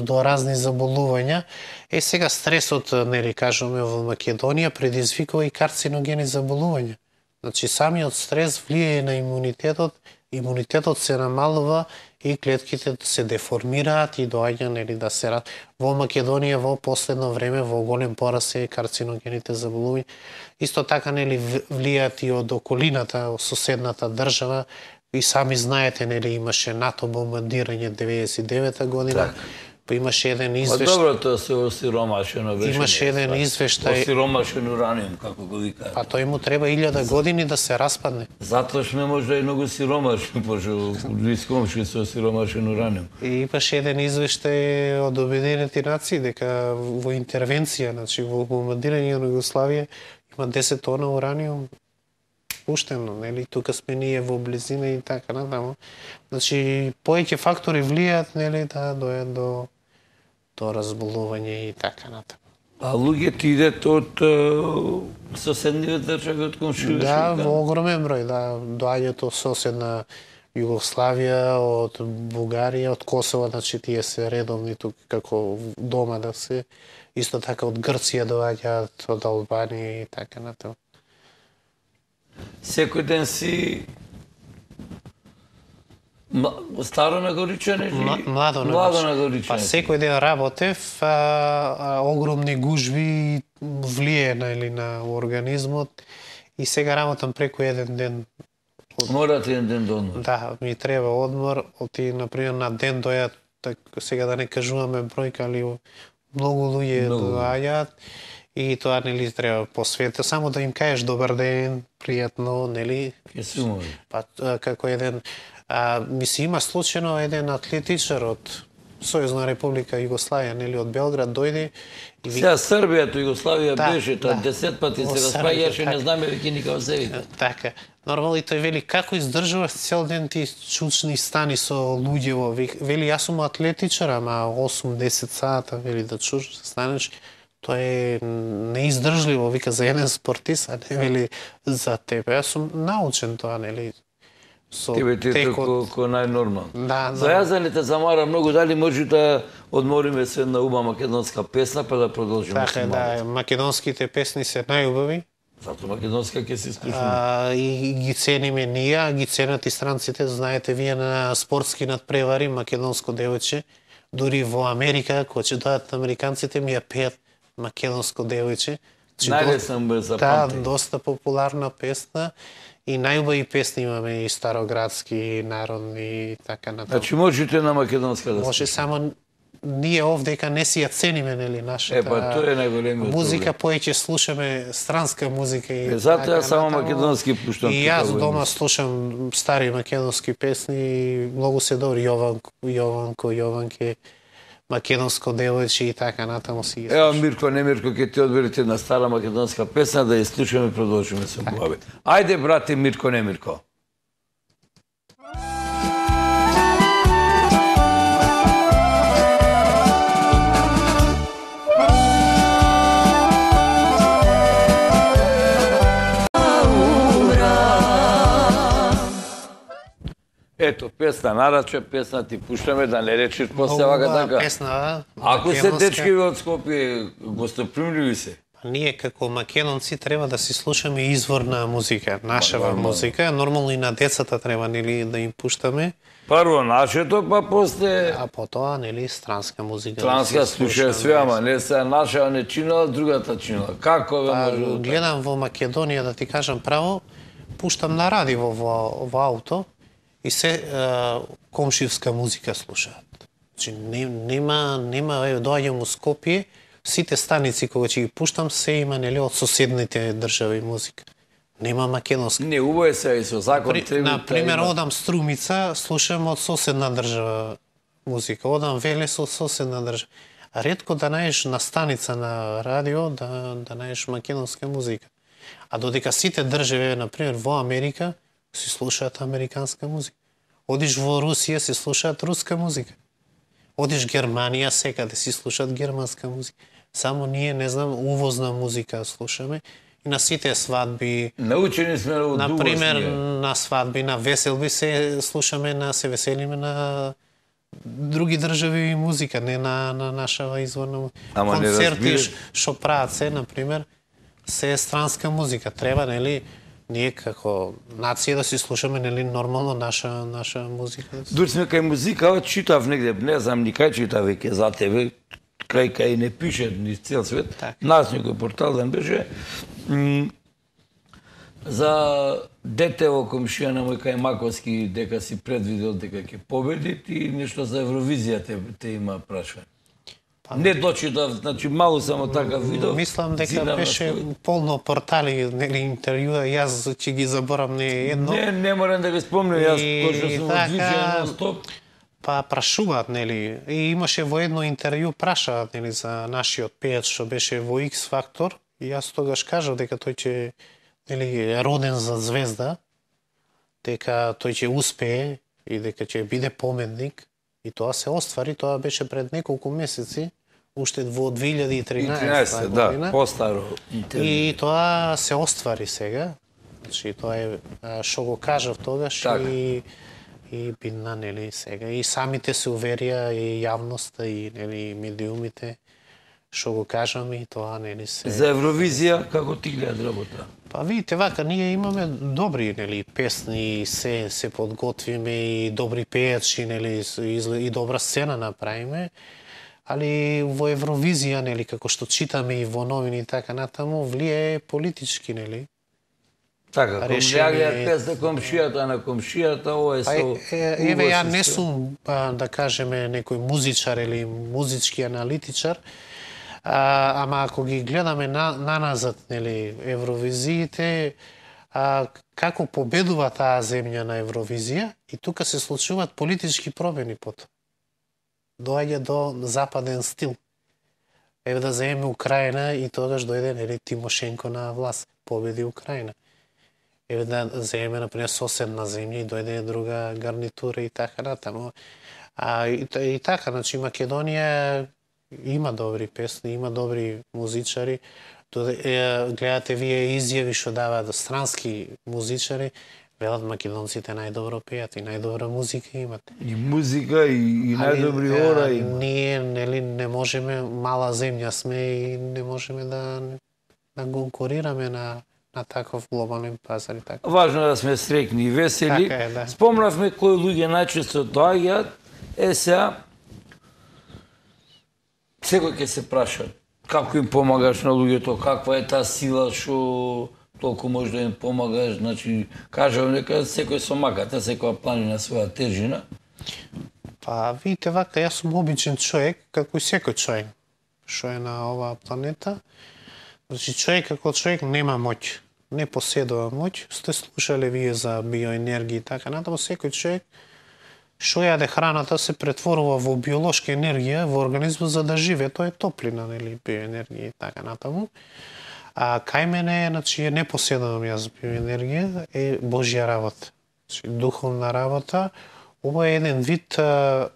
до разни заболувања. Е, сега стресот, нели, кажеме, во Македонија предизвикува и карциногени заболувања. Значи, самиот стрес влијае на имунитетот, имунитетот се намалува и клетките се деформираат и доаѓа, нели, да се рад. Во Македонија во последно време во голем пораст е карциногените заболувања. Исто така, нели, влијаат и од околината, од соседната држава. И сами знаете, нели, имаше НАТО бомбардирање деветдесет и девета година. Так. Па имаше еден Па извештај. добро, тоа се осиромашено беше. Имаше еден извештај. Осиромашен ураниум, како го викаат. Па тој му треба илјада години да се распадне. Затоа што може и многу сиромашни, пошто низ комши со осиромашен ураниум. И имаше еден извештај од Обединените нации дека во интервенција, значи во бомбардирање на Југославија има десет тона ураниум пуштено, нели, тука сме ние во близина и така натаму. Значи, повеќе фактори влијаат, нели, да дојат до до разболување и така натаму. А луѓето идат од е, соседниве држави, од комшилешки? Да, во огромен број, да, доаѓаат од соседна Југославија, од Бугарија, од Косово, значи тие се редовни тука како дома да се. Исто така од Грција доаѓаат, од Албанија и така натаму. Секој ден си старо нагоричане или М- Младо, младо нагоричане. нагоричане? Па секој ден работев, а, а, огромни гужви влие на, или на организмот и сега работам преку еден ден. Морате еден ден до одмор. Да, ми треба одмор, оти, например, на ден дојат, так, сега да не кажуваме бројка, али многу луѓе Многу. доаѓаат и тоа, нели, треба посвете, само да им кажеш добар ден, пријатно, нели, Ке се умори. па а, како еден, а, ми се има случајно еден атлетичар од Сојузна република Југославија, нели, од Белград дојде и ви... Сега Србија, Југославија Да, беше, тоа да. десет пати Во се Србија, распаѓаше, не така. знаме веќе никако се вика. Така. Нормално и тој вели, како издржуваш цел ден ти чучни стани со луѓе во вик. Вели, јас сум атлетичар, ама осум-десет сата, вели, да чуш, станеш, тоа е неиздржливо, вика, за еден спортист, а не вели за тебе. Јас сум научен тоа, нели, со Тебе ти е текот. ко, ко најнормално. Да, За да. јас да не те замара многу, дали може да одмориме се една уба македонска песна, па да продолжиме Така со е, малку. да, македонските песни се најубави. Зато македонска ќе се слушаме. А, и ги цениме ние, а ги ценат и странците. Знаете, вие на спортски надпревари, македонско девојче, дури во Америка, кога ќе дојдат американците, ми ја пеат македонско девојче. Значи, Најлесно бе за Да, памтење. доста популарна песна и најубави песни имаме и староградски, и народни и така натаму. Значи можете на македонска да Може само ние овдека не си ја цениме, нели, нашата Е, па тоа е најголемиот музика, проблем. повеќе слушаме странска музика и Е, затоа така јас само натаму. македонски пуштам И тука јас во дома емисија. слушам стари македонски песни и многу се добри, Јованко, Јованко, Јованке, македонско девојче и така натаму си ги Ево слушам. Мирко, не Мирко, ќе ти одберете една стара македонска песна да ја слушаме и продолжиме со глави. Ајде, брате Мирко, не Мирко. Ето, песна нарача, песна ти пуштаме, да не речеш после вака така. Песна, Ако се македонска. дечки од Скопје, гостопримливи се. Ние како македонци треба да си слушаме изворна музика, нашава нормално. музика. Нормално и на децата треба нели да им пуштаме, Прво нашето, па после а потоа нели странска музика. транска да се слуша све, ама не се наша не чинала, другата чинала. Како бе Па, може? да- гледам во Македонија, да ти кажам право, пуштам на радио во, во ауто и се е, комшивска музика слушаат. Значи не, нема нема е, доаѓам у Скопје, сите станици кога ќе ги пуштам се има нели од соседните држави музика. Нема македонска. Не, убаво е се и со закон При, треба на да пример, има. одам Струмица, слушам од соседна држава музика. Одам Велес од соседна држава. А ретко да најдеш на станица на радио да да најдеш македонска музика. А додека сите држави, на пример во Америка, се слушаат американска музика. Одиш во Русија, се слушаат руска музика. Одиш Германија, секаде си слушаат германска музика. Само ние, не знам, увозна музика слушаме. И на сите свадби, Научени сме од на дуго пример, ние. на свадби, на веселби се слушаме, на се веселиме на други држави и музика, не на, на нашава изворна музика. Ама не Концерти разбираш. што прават се, на пример, се е странска музика. Треба, нели, ние како нација да си слушаме, нели, нормално наша наша музика. Да си... Дури сме кај музика, ова читав негде, не знам ни кај читав веќе за тебе, кај кај не пише ни цел свет, Така. нас некој портал да беше, м, за дете во комшија на мој кај Маковски, дека си предвидел дека ќе победи, и нешто за Евровизија те, те има прашање. Не дочитав, значи малку само така видов. Мислам дека зидам на беше свој- полно портали, нели, интервјуа, јас ќе ги заборам не едно. Не, не морам да го спомнам, јас И точно сум така, во движење на стоп. Па прашуваат, нели, и имаше во едно интервју прашаат, нели, за нашиот пеец што беше во X Factor, и јас тогаш кажав дека тој ќе, нели, е роден за звезда, дека тој ќе успее и дека ќе биде поменик, и тоа се оствари, тоа беше пред неколку месеци, уште во две илјади и И тринаесета тринаесета, да, година. постаро интервју. И тоа се оствари сега. Значи тоа е а, што го кажав тогаш Така. и и бидна, нели, сега и самите се уверија и јавноста и нели медиумите што го кажам и тоа нели се. За Евровизија како ти гледат работа? Па видите вака ние имаме добри нели песни и се се подготвиме и добри пејачи нели и, и добра сцена направиме. Али во Евровизија нели како што читаме и во новини и така натаму влијае политички нели. Така, ком Решение- ја гледат песна комшијата на комшијата, ова е Па, со... е, еве, ја уво не се- сум, а, да кажеме, некој музичар или музички аналитичар, а, ама ако ги гледаме на, наназад, нели, Евровизиите, а, како победува таа земја на Евровизија, и тука се случуваат политички промени потоа. Доаѓа до западен стил. Еве да земеме Украина и тогаш дојде, нели, Тимошенко на власт, победи Украина. Еве да земеме, например, соседна земја и дојде друга гарнитура и така натаму. А и, та- и така, значи Македонија има добри песни, има добри музичари. Доде, е, гледате вие изјави што даваат странски музичари, велат македонците најдобро пеат и најдобра музика имат. И музика, и, и Али, најдобри е, ора и... Ние, нели, не можеме, мала земја сме и не можеме да да конкурираме на на таков глобален пазар и така. Важно е да сме среќни и весели. Така е, да. Спомнавме кои луѓе најчесто доаѓаат, е сега секој ќе се праша како им помагаш на луѓето, каква е таа сила што толку може да им помагаш, значи кажам нека секој со маката, секоја планина своја тежина. Па, видите вака, јас сум обичен човек, како и секој човек што е на оваа планета. Значи, човек како човек нема моќ, не поседува моќ. Сте слушале вие за биоенергија и така натаму, секој човек што јаде храната се претворува во биолошка енергија во организмот за да живее, тоа е топлина, нели, биоенергија и така натаму. А кај мене, значи, не поседувам јас биоенергија, е Божја работа. Значи, духовна работа. Ова е еден вид а,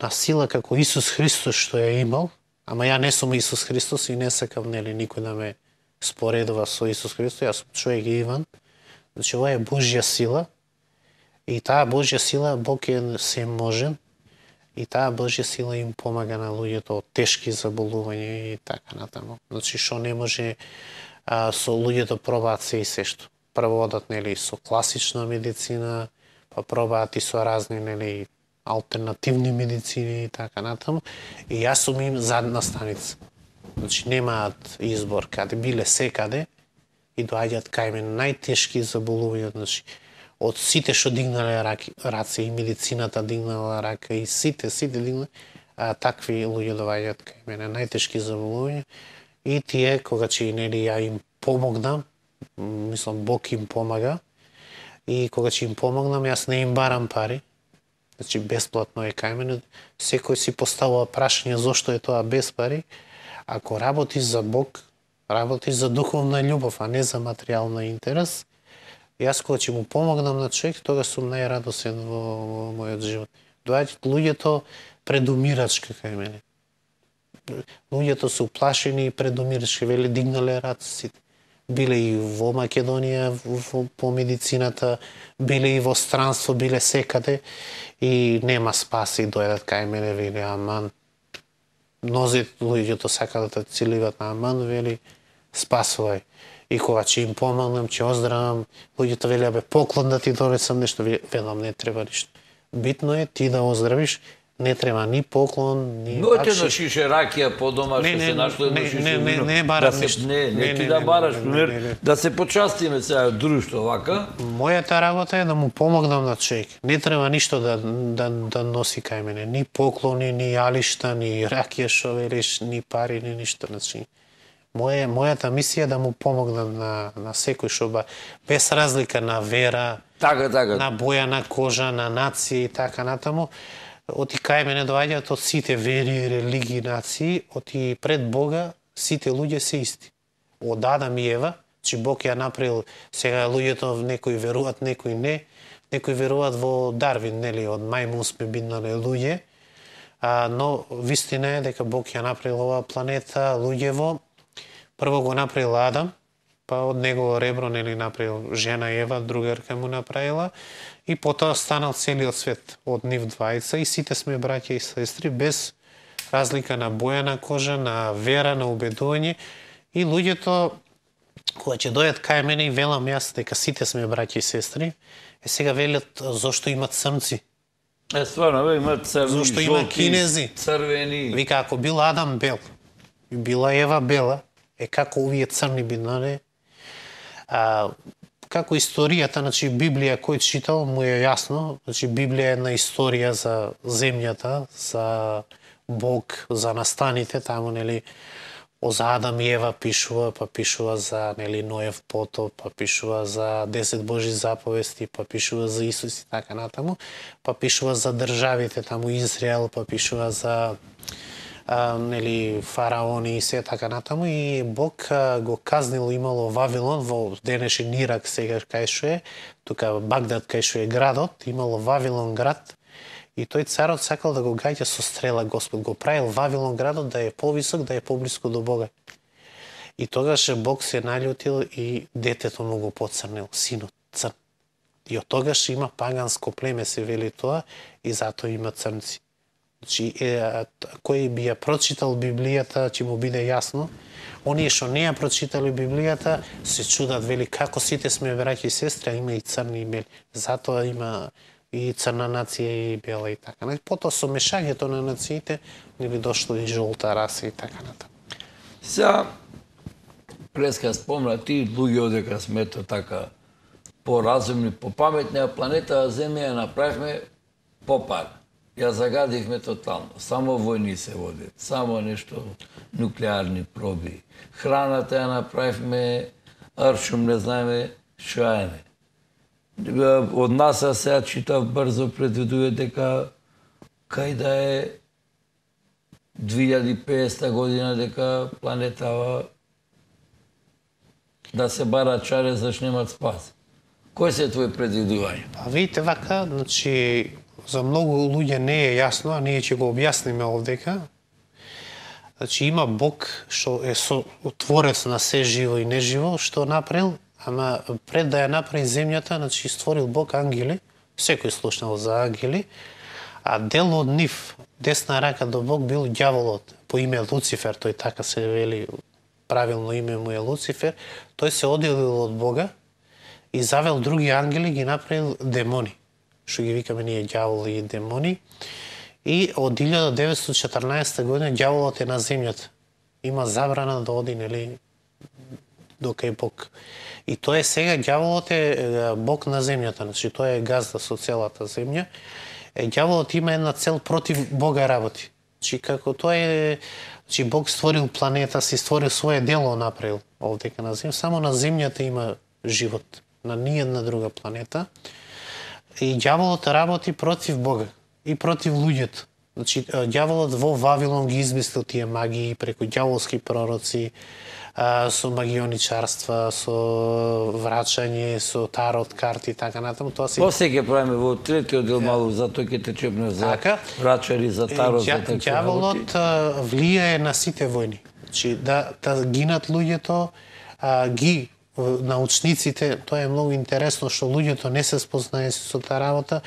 на сила како Исус Христос што ја имал, ама ја не сум Исус Христос и не сакам, нели, никој да ме споредува со Исус Христос, јас сум човек Иван. Значи, ова е Божја сила И таа Божја сила, Бог е се можен, и таа Божја сила им помага на луѓето од тешки заболувања и така натаму. Значи, што не може, а, со луѓето пробаат се и се што. Прво одат, нели, со класична медицина, па пробаат и со разни, нели, алтернативни медицини и така натаму. И јас сум им задна станица. Значи, немаат избор, каде биле секаде и доаѓаат кај мене најтешки заболувања, значи, од сите што дигнале раки, раце и медицината дигнала рака и сите, сите дигнале, а, такви луѓе доаѓаат кај мене, најтешки заболувања. И тие, кога че нели ја им помогнам, мислам Бог им помага, и кога че им помогнам, јас не им барам пари, значи бесплатно е кај мене, секој си поставува прашање зошто е тоа без пари. Ако работиш за Бог, работиш за духовна љубов, а не за материјална интерес, јас кога ќе му помогнам на човек, тога сум најрадосен во, во мојот живот. Доаѓаат луѓето предумирачки кај мене. Луѓето се уплашени и предумирачки, веле дигнале раце сите. Биле и во Македонија, во, по медицината, биле и во странство, биле секаде и нема спас и дојдат кај мене, веле аман. Мнози луѓето сакаат да целиват на аман, вели спасувај. И кога ќе им помогнам, ќе оздравам, луѓето велеа бе поклон да ти донесам нешто, велам не треба ништо. Битно е ти да оздравиш, не треба ни поклон, ни Ноќе бакшиш. да шише ракија по дома што се нашло едно не, шише не, не, вино. не барам да се, ништо. Не, не, Не, ти не, да не, бараш, не, не, пример, не, не. да се почастиме сега друштво вака. Мојата работа е да му помогнам на човек. Не треба ништо да, да, да носи кај мене. Ни поклони, ни алишта, ни ракија што велиш, ни пари, ни ништо. Значи, моја, мојата мисија е да му помогнам на, на секој што ба, без разлика на вера, Така, така. на боја на кожа, на нација и така натаму. Оти кај мене доаѓаат од сите вери, религии, нации, оти пред Бога сите луѓе се исти. Од Адам и Ева, че Бог ја направил, сега луѓето некои веруваат, некои не, некои веруваат во Дарвин, нели, од мајмун сме биднале луѓе, а, но вистина е дека Бог ја направил оваа планета, луѓево, прво го направил Адам, па од негово ребро, нели, направил жена Ева, другарка му направила, и потоа станал целиот свет од нив двајца и сите сме браќа и сестри без разлика на боја на кожа, на вера, на убедување. И луѓето кога ќе дојдат кај мене и велам јас дека сите сме браќа и сестри, е сега велат зошто имат црнци. Е, стварно, бе, има црни, Зошто има жолти, кинези? црвени. Вика, ако бил Адам бел и била Ева бела, е како овие црни биднале. А, како историјата, значи Библија кој читал, му е јасно, значи Библија е една историја за земјата, за Бог, за настаните, таму нели за Адам и Ева пишува, па пишува за нели Ноев потоп, па пишува за десет Божи заповести, па пишува за Исус и така натаму, па пишува за државите, таму Израел, па пишува за а, нели фараони и се така натаму, и Бог а, го казнил, имало Вавилон во денешен Ирак, сега кај што е, тука Багдад кај што е градот, имало Вавилон град, и тој царот сакал да го гаѓа со стрела. Господ го правил Вавилон градот да е повисок, да е поблиску до Бога. И тогаш Бог се наљутил и детето му го поцрнил, синот црн. И од тогаш има паганско племе, се вели тоа, и затоа има црнци. Значи, е, кој би ја прочитал Библијата, ќе му биде јасно. Оние што не ја прочитали Библијата, се чудат, вели, како сите сме браќи и сестри, а има и црни и бели. Затоа има и црна нација и бела и така. Потоа со мешањето на нациите нели дошло и жолта раса и така натаму. Сега, преска спомна ти, луѓе одека смето така поразумни, попаметни, а планета Земја ја направивме попар. Ја загадивме тотално. Само војни се водат, само нешто нуклеарни проби. Храната ја направивме аршум, не знаеме што е. Од нас сега читав брзо предвидува дека кај да е две илјади и петдесета година дека планетава да се бара чаре за немат спас. Кој се твои предвидувања? Па видите вака, значи за многу луѓе не е јасно, а ние ќе го објасниме овдека. Значи има Бог што е со творец на се живо и неживо, што направил. Ама пред да ја направи земјата, значи створил Бог ангели, Секој слушнал за ангели, а дел од нив, десна рака до Бог, бил ѓаволот по име Луцифер, тој така се вели, правилно име му е Луцифер. Тој се оделил од Бога и завел други ангели, ги направил демони, што ги викаме ние ѓаволи и демони. И од илјада деветстотини и четрнаесетта година ѓаволот е на земјата. Има забрана да оди, нели, до кај Бог. И тоа е сега, ѓаволот е Бог на земјата, значи тој е газда со целата земја. Ѓаволот има една цел против Бога работи. Значи како тоа е, значи Бог створил планета, си створил свое дело направил овдека на земја, само на земјата има живот, на ниедна друга планета. И ѓаволот работи против Бога и против луѓето. Значи ѓаволот во Вавилон ги измислил тие магии преку ѓаволски пророци, со магионичарства, со врачање, со тарот карти и така натаму. Тоа се После ќе правиме во третиот дел малку, затоа ќе те чепне за така, врачари, за тарот, за така. Ѓаволот влијае на сите војни. Значи да, да гинат луѓето, а, ги научниците, тоа е многу интересно што луѓето не се спознаe со таа работа.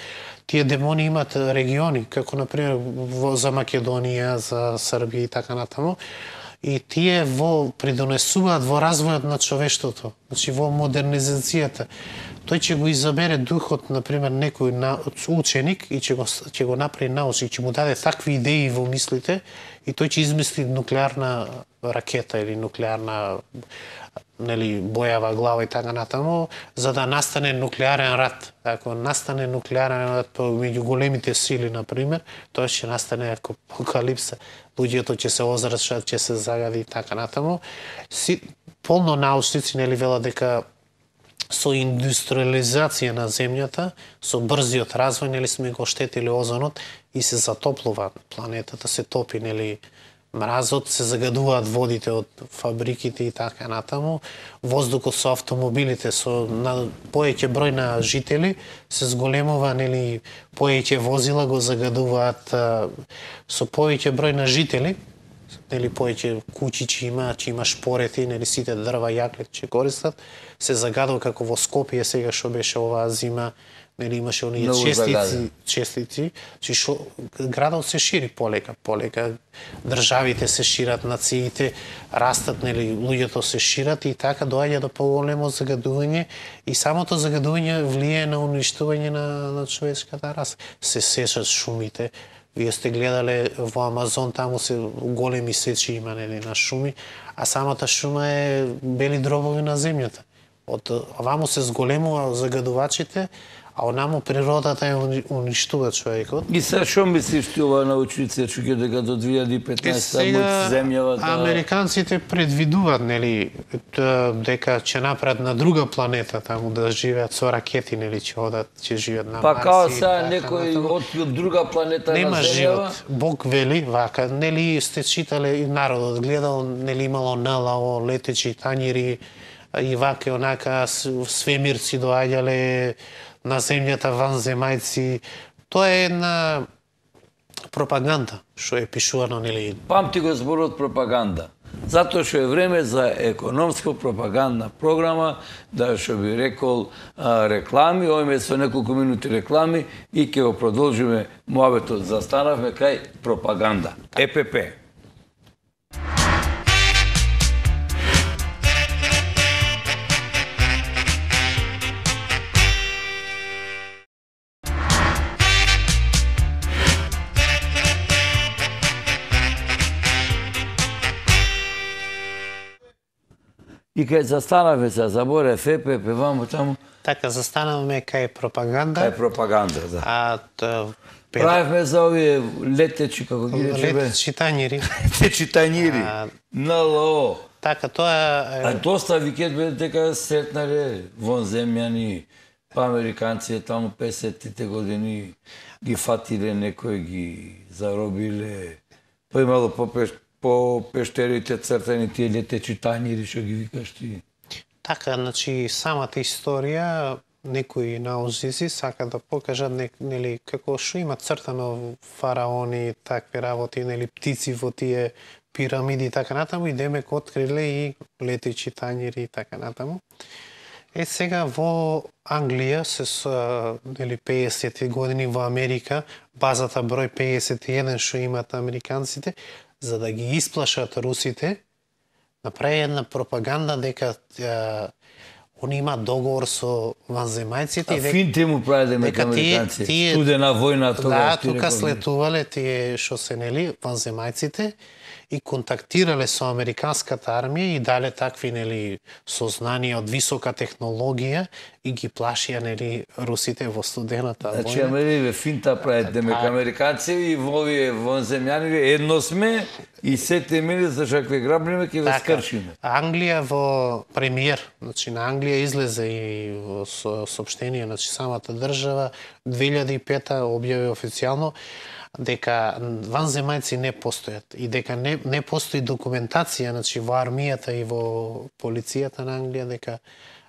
Тие демони имат региони, како например во, за Македонија, за Србија и така натаму. И тие во придонесуваат во развојот на човештвото, значи во модернизацијата. Тој ќе го изабере духот, например, некој на, ученик и ќе го, ќе го направи научник, ќе му даде такви идеи во мислите и тој ќе измисли нуклеарна ракета или нуклеарна, нели, бојава глава и така натаму, за да настане нуклеарен рат. Ако настане нуклеарен рат меѓу големите сили, например, тоа ќе настане апокалипса. Луѓето ќе се озрачат, ќе се загади и така натаму. Си, полно научници, нели, велат дека со индустриализација на земјата, со брзиот развој, нели, сме го штетили озонот и се затоплува планетата, се топи, нели, мразот, се загадуваат водите од фабриките и така натаму, воздухот со автомобилите, со на поеќе број на жители, се зголемува, нели, поеќе возила го загадуваат а, со поеќе број на жители, нели, поеќе куќи ќе има, ќе има шпорети, нели, сите дрва, јаклет ќе користат, се загадува како во Скопје сега што беше оваа зима, нели, имаше оние честици, честици, че шо градот се шири полека, полека, државите се шират, нациите растат, нели, луѓето се шират и така доаѓа до поголемо загадување и самото загадување влијае на уништување на, на човечката раса. Се сечат шумите. Вие сте гледале во Амазон, таму се големи сечи има, нели, на шуми, а самата шума е бели дробови на земјата. Од оваму се зголемува загадувачите, а онаму природата ја уништува човекот. И сега што мислиш ти ова научници, че дека до две илјади и петнаесетта земјава да... Американците предвидуваат, нели, дека ќе направат на друга планета таму да живеат со ракети, нели, ќе одат, ќе живеат на Па Марс. Па као сега некој од друга планета нема на земјава? живот. Бог вели вака, нели сте читале и народот гледал, нели имало ен ел о, летечи тањири и вака онака свемирци доаѓале на земјата ванземајци. Тоа е една пропаганда што е пишувано, нели. Памти го зборот пропаганда. Затоа што е време за економска пропагандна програма, да што би рекол а, реклами, овој со неколку минути реклами и ќе го продолжиме муабетот. Застанавме кај пропаганда. Е пе пе. И кај застанавме се, заборе Ф П П, ваму таму. Така, застанавме кај пропаганда. Кај пропаганда, да. А т, пер... правевме за овие летечи, како ги речеме. Летечи тањири. Летечи тањири. ен ел о. Така, тоа е... А доста викет бе дека сретнале вон земјани, па американци таму песетите години ги фатиле, некои ги заробиле. Па имало по пеш... по пештерите цртани тие летечи тањири, што ги викаш ти. Така, значи, самата историја, некои научници сакаат да покажат, нели, како што има цртано фараони, такви работи, нели, птици во тие пирамиди и така натаму, и демек откриле и летечи тањири и така натаму. Е, сега во Англија се со, нели, пеесетти години во Америка, базата број пеесет и еден што имаат американците, за да ги исплашат русите, направи една пропаганда дека е, они имаат договор со ванземајците и дека финте му прави дека американци. Тие, студена војна Да, тогаш. тука слетувале тие што се, нели, ванземајците и контактирале со американската армија и дале такви, нели, сознанија од висока технологија и ги плашија, нели, русите во студената војна. Значи, Америве финта прават демек американци и вовие вонземјани едно сме и сете мили за шакве грабниме ќе ве скршиме. Англија во премиер, значи на Англија излезе и во соопштение, значи самата држава две илјади и пета објави официјално дека ванземајци не постојат и дека не, не постои документација, значи во армијата и во полицијата на Англија дека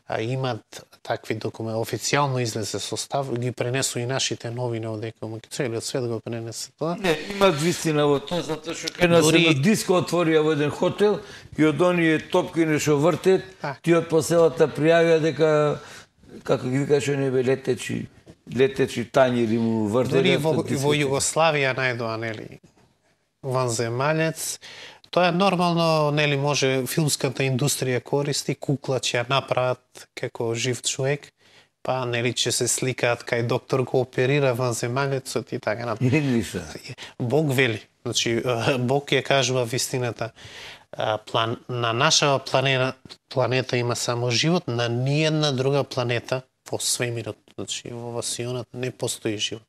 а, имат такви документи. Официјално излезе состав, ги пренесу и нашите новини одека, целиот свет го пренесе тоа. Не, имат вистина во тоа, затоа што кај нас Дори... едно диско отворија во еден хотел и од оние топки што вртет, тие од поселата пријавија дека, како ги викаше, не бе летечи, летечи тањери му вртеле. Дори во, во Југославија најдоа, нели, ванземаљец. Тоа е нормално, нели, може филмската индустрија користи, кукла ќе ја направат како жив човек, па, нели, ќе се сликаат кај доктор го оперира ванземаљецот и така натаму. Бог вели, значи, Бог ја кажува вистината. План, на нашава планета, планета има само живот, на ниедна друга планета во свемирот, значи во васионата не постои живот.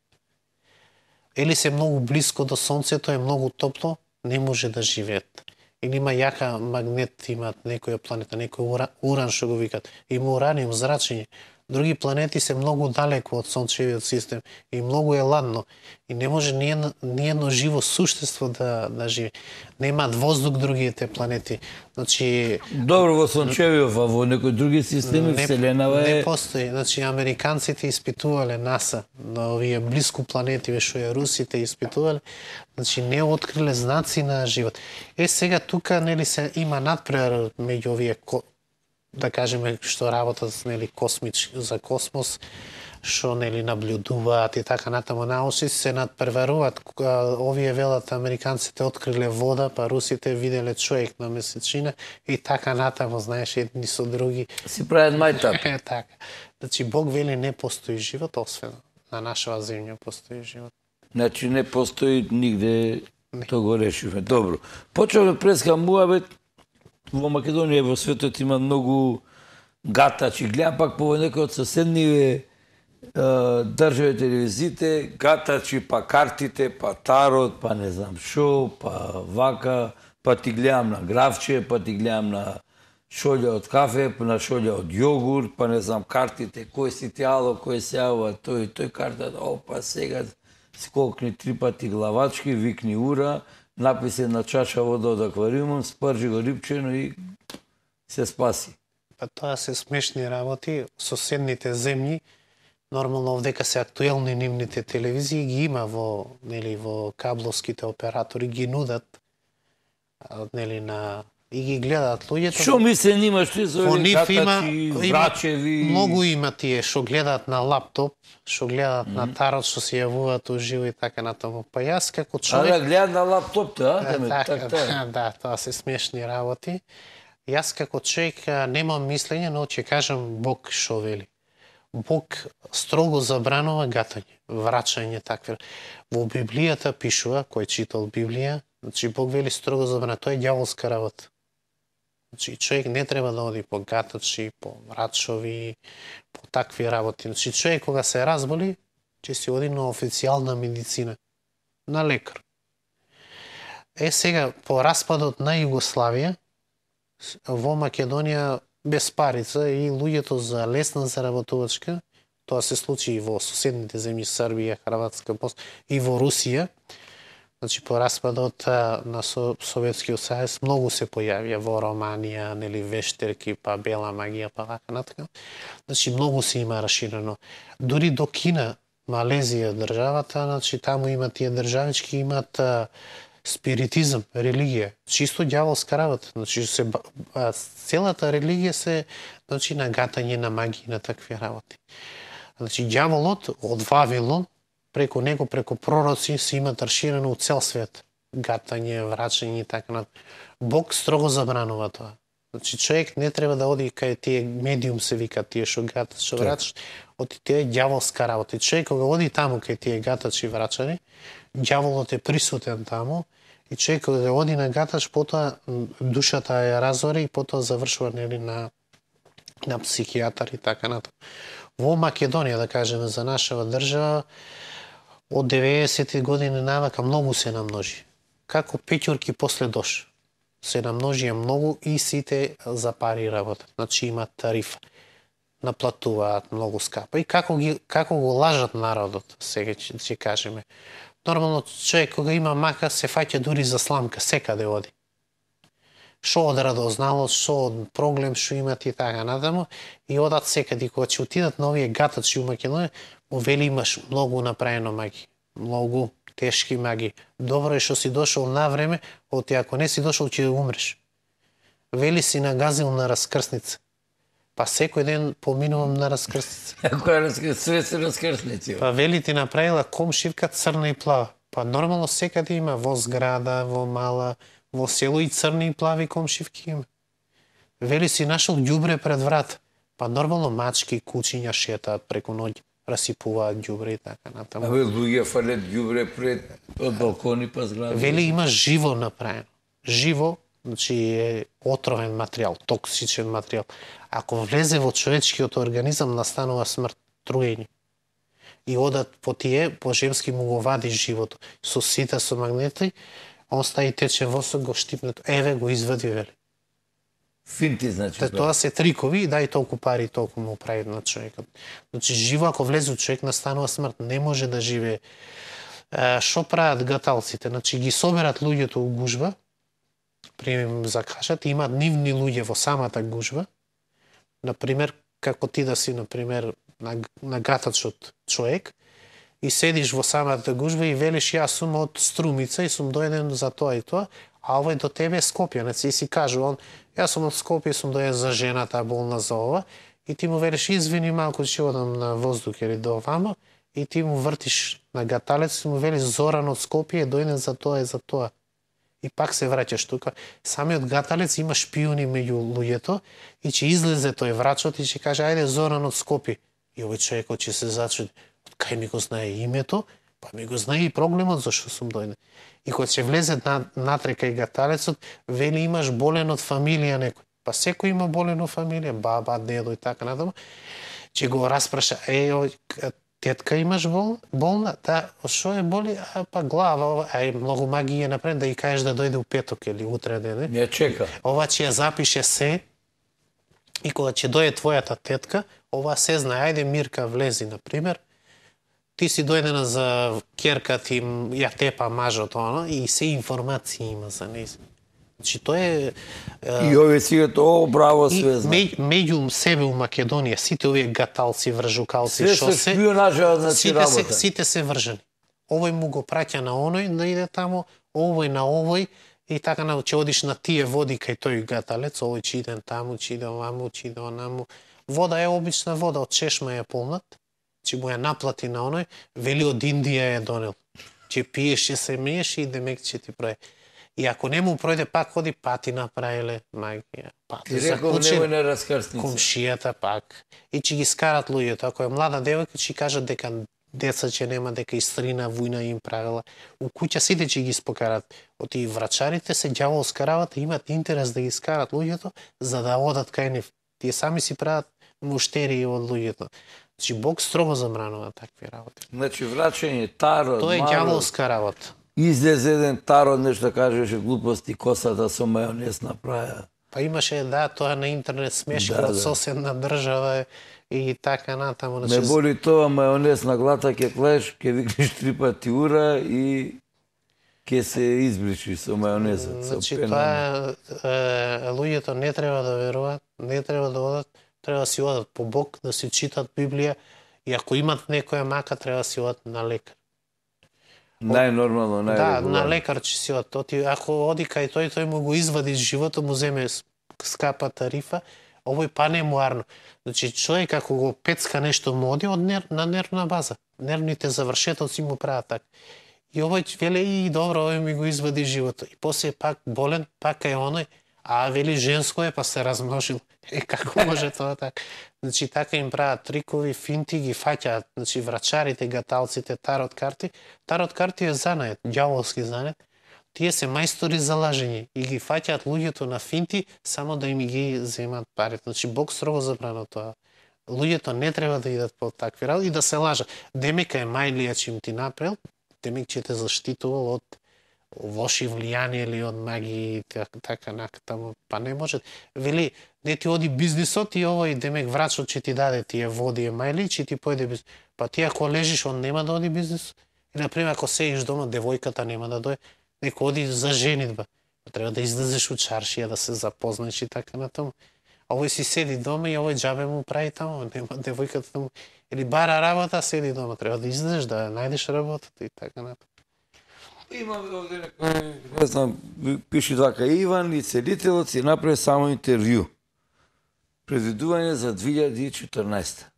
Или се многу близко до сонцето, е многу топло, не може да живеат. Или има јака магнет, имаат некоја планета, некој уран, уран што го викат, има ураниум, зрачење. Други планети се многу далеко од сончевиот систем и многу е ладно и не може ниедно, ниедно живо суштество да да живее. Немаат воздух другите планети. Значи добро во сончевиот, а во некои други системи не, вселенава е не постои. Значи американците испитувале НАСА на овие блиску планети што ја русите испитувале, значи не откриле знаци на живот. Е сега тука, нели, се има надпревар меѓу овие, да кажеме, што работат, нели, космич за космос, што, нели, наблюдуваат и така натаму, научници се надпреваруваат. Овие велат американците откриле вода, па русите виделе човек на месечина и така натаму, знаеш, едни со други си прават мајтап. Е така. Значи Бог вели не постои живот, освен на нашава земја постои живот. Значи не постои нигде, тоа го решивме. Добро. Почнавме преска муабет. Во Македонија, во светот има многу гатачи. Гледам пак по некои од соседниве држави телевизиите, гатачи, па картите, па тарот, па не знам шо, па вака, па ти гледам на гравче, па ти гледам на шолја од кафе, па на шолја од јогурт, па не знам картите, кој си тяло, кој се јава, тој, тој карта, опа сега скокни три пати главачки, викни ура, написе на чаша вода од аквариумот, спржи го рибчено и се спаси. Па тоа се смешни работи. Соседните земји, нормално овдека се актуелни нивните телевизии, ги има во, нели, во кабловските оператори, ги нудат, нели, на и ги гледаат луѓето. Што ми се нима, што се овие катачи, врачеви? Многу има тие што гледаат на лаптоп, што гледаат mm -hmm. на тарот, што се јавуваат уживо и така натаму. Па јас како човек... А да гледаат на лаптоп, да? Да, така, да, да, тоа се смешни работи. Јас како човек немам мислење, но ќе кажам Бог што вели. Бог строго забранува гатање, врачање такви. Во Библијата пишува, кој читал Библија, значи Бог вели строго забранува, тоа е ѓаволска работа. Значи, човек не треба да оди по гатачи, по врачови, по такви работи. Значи, човек кога се разболи, ќе си оди на официјална медицина, на лекар. Е, сега, по распадот на Југославија, во Македонија без парица и луѓето за лесна заработувачка, тоа се случи и во соседните земји Србија, Хрватска, и во Русија. Значи, по распадот на Советскиот Сојуз многу се појавија во Романија, нели, вештерки, па бела магија, па вака натака. Значи, многу се има раширено. Дури до Кина, Малезија државата, значи, таму има тие државички, имат спиритизам, религија, чисто ѓаволска работа. Значи се а, целата религија се значи на гатање, на магија, на такви работи. Значи ѓаволот од Вавилон преку него, преку пророци се има раширено у цел свет. Гатање, врачање и така на. Бог строго забранува тоа. Значи човек не треба да оди кај тие медиум се вика тие што гатат, што врачат, од тие ѓаволска работа. И човек кога оди таму кај тие гатачи и врачари, ѓаволот е присутен таму и човек кога оди на гатач, потоа душата ја разори и потоа завршува нели на на психијатар и така натаму. Во Македонија, да кажеме, за нашава држава, од деветдесетти години навака многу се намножи. Како пеќурки после дош. Се намножија многу и сите за пари работат. Значи имат тарифа. Наплатуваат многу скапа. И како, ги, како го лажат народот, сега ќе, ќе кажеме. Нормално човек кога има мака се фаќа дури за сламка, секаде оди. Шо од радозналост, шо од проблем, шо имат и така натаму, и одат секаде. Кога ќе отидат на овие гатачи у Македонија, му вели имаш многу направено маги, многу тешки маги. Добро е што си дошол на време, оти ако не си дошол ќе умреш. Вели си нагазил на раскрсница. Па секој ден поминувам на раскрсница. Ако е све се раскрсници. Па вели ти направила комшивка црна и плава. Па нормално секаде има во зграда, во мала, во село и црни и плави комшивки има. Вели си нашол ѓубре пред врат. Па нормално мачки, кучиња шетаат преку ноќ, расипуваат ѓубре и така натаму. Абе луѓе фалат ѓубре пред од балкони па згради. Вели има живо направено. Живо, значи е отровен материјал, токсичен материјал. Ако влезе во човечкиот организам, настанува смрт, труење. И одат по тие, по жемски му го вади живото. Со сита, со магнети, он стаи тече восок, го штипнет. Еве го извади, вели. Финти, значи. Те, тоа се трикови, дај толку пари, толку му прави на човекот. Значи, живо, ако влезе у човек, настанува смрт. Не може да живее. Шо прават гаталците? Значи, ги соберат луѓето у гужба, примем закашат, имаат нивни луѓе во самата гужба. Например, како ти да си, например, на, на гатачот човек, и седиш во самата гужба и велиш, јас сум од Струмица и сум дојден за тоа и тоа, а овој до тебе е Скопјанец и си кажу он, јас сум од Скопје, сум дојден за жената, болна за ова, и ти му велиш, извини малку, ќе одам на воздух или до овамо, и ти му вртиш на гаталец и му велиш, Зоран од Скопје е дојден за тоа и за тоа. И пак се враќаш тука. Самиот гаталец има шпиони меѓу луѓето и ќе излезе тој врачот и ќе каже, ајде Зоран од Скопје. И овој човекот ќе се зачуди, кај ми го знае името, па ми го знае и проблемот зашто сум дојден. И кога ќе влезе на, натре кај гаталецот, вели имаш болен од фамилија некој. Па секој има болен од фамилија, баба, дедо и така натаму. Ќе го распраша, е, тетка имаш бол, болна? Да, шо е боли? А, па глава, ај многу магија напред да и кажеш да дојде у петок или утре деде. Не чека. Ова ќе ја запише се и кога ќе дојде твојата тетка, ова се знае, ајде Мирка влези, например, ти си дојдена за керка ти, ја тепа мажот, оно, и се информации има за нејзин. Значи, тоа е... И овие си тоа браво све знае. Меѓу себе у Македонија, сите овие гаталци, вржукалци, све шо се се... шпионажа, значи сите работа. се, сите се вржани. Овој му го праќа на оној да иде таму, овој на овој, и така на ќе одиш на тие води кај тој гаталец, овој ќе иде таму, ќе иде оваму, ќе иде онаму. Вода е обична вода, од чешма е полнат, ќе му ја наплати на оној, вели од Индија е донел. Ќе пиеш, ќе се миеш и демек ќе ти прави. И ако не му пројде, пак ходи пати направиле магија. Пати Ти реков немој на раскрсница. Комшијата пак. И ќе ги скарат луѓето. Ако е млада девојка, ќе кажат дека деца ќе нема, дека истрина вујна им правила. У куќа сите ќе ги спокарат. Оти врачарите се ѓаволска работа, имат интерес да ги скарат луѓето за да одат кај нив. Тие сами си прават муштерии од луѓето. Значи Бог строго забранува такви работи. Значи врачање, тарот, Тоа е марот. ѓаволска работа. Излезе еден тарот, нешто кажеше глупости, косата со мајонез направија. Па имаше, да, тоа на интернет смешка Да, од да. соседна држава и така натаму. Не боли тоа мајонез на глата, ќе клеш, ќе викнеш три пати ура и ќе се избричи со мајонезот. со Значи пена. тоа е, луѓето не треба да веруваат, не треба да одат, треба да си одат по Бог, да си читат Библија и ако имат некоја мака, треба да си одат на лекар. Најнормално, Да, најрегуларно. на лекар че си од тоти, ако оди кај тој, тој му го извади животот, му земе скапа тарифа, овој па не муарно. Значи, човек ако го пецка нешто му оди од нер, на нервна база. Нервните завршетоци му прават така. И овој веле и добро, овој ми го извади животот. И после пак болен, пак е оној, а вели женско е, па се размножил. Е, како може тоа така? Значи, така им прават трикови, финти, ги фаќаат, значи, врачарите, гаталците, тарот карти. Тарот карти е занает, ѓаволски занает. Тие се мајстори за лажење и ги фаќаат луѓето на финти само да им ги земат парите. Значи, Бог строго забрана тоа. Луѓето не треба да идат по такви работи и да се лажат. Демека е мајлија че им ти направил, демек че те заштитувал од лоши влијани или од маги така, така накатамо, па не може. Вели, не ти оди бизнисот и овој демек врачот че ти даде тие води е мајли, че ти појде бизнис. Па ти ако лежиш, он нема да оди бизнис. И например, ако сеиш дома, девојката нема да дојде, неко оди за женитба. Треба да излезеш у чаршија, да се запознаеш и така натаму. А овој си седи дома и овој џабе му прави таму, нема девојката таму. Или бара работа, седи дома, треба да излезеш, да најдеш работата и така натаму. Имаме овде некој, не знам, пише вака, Иван и целителот си направи само интервју. Предвидување за две илјади и четрнаесета.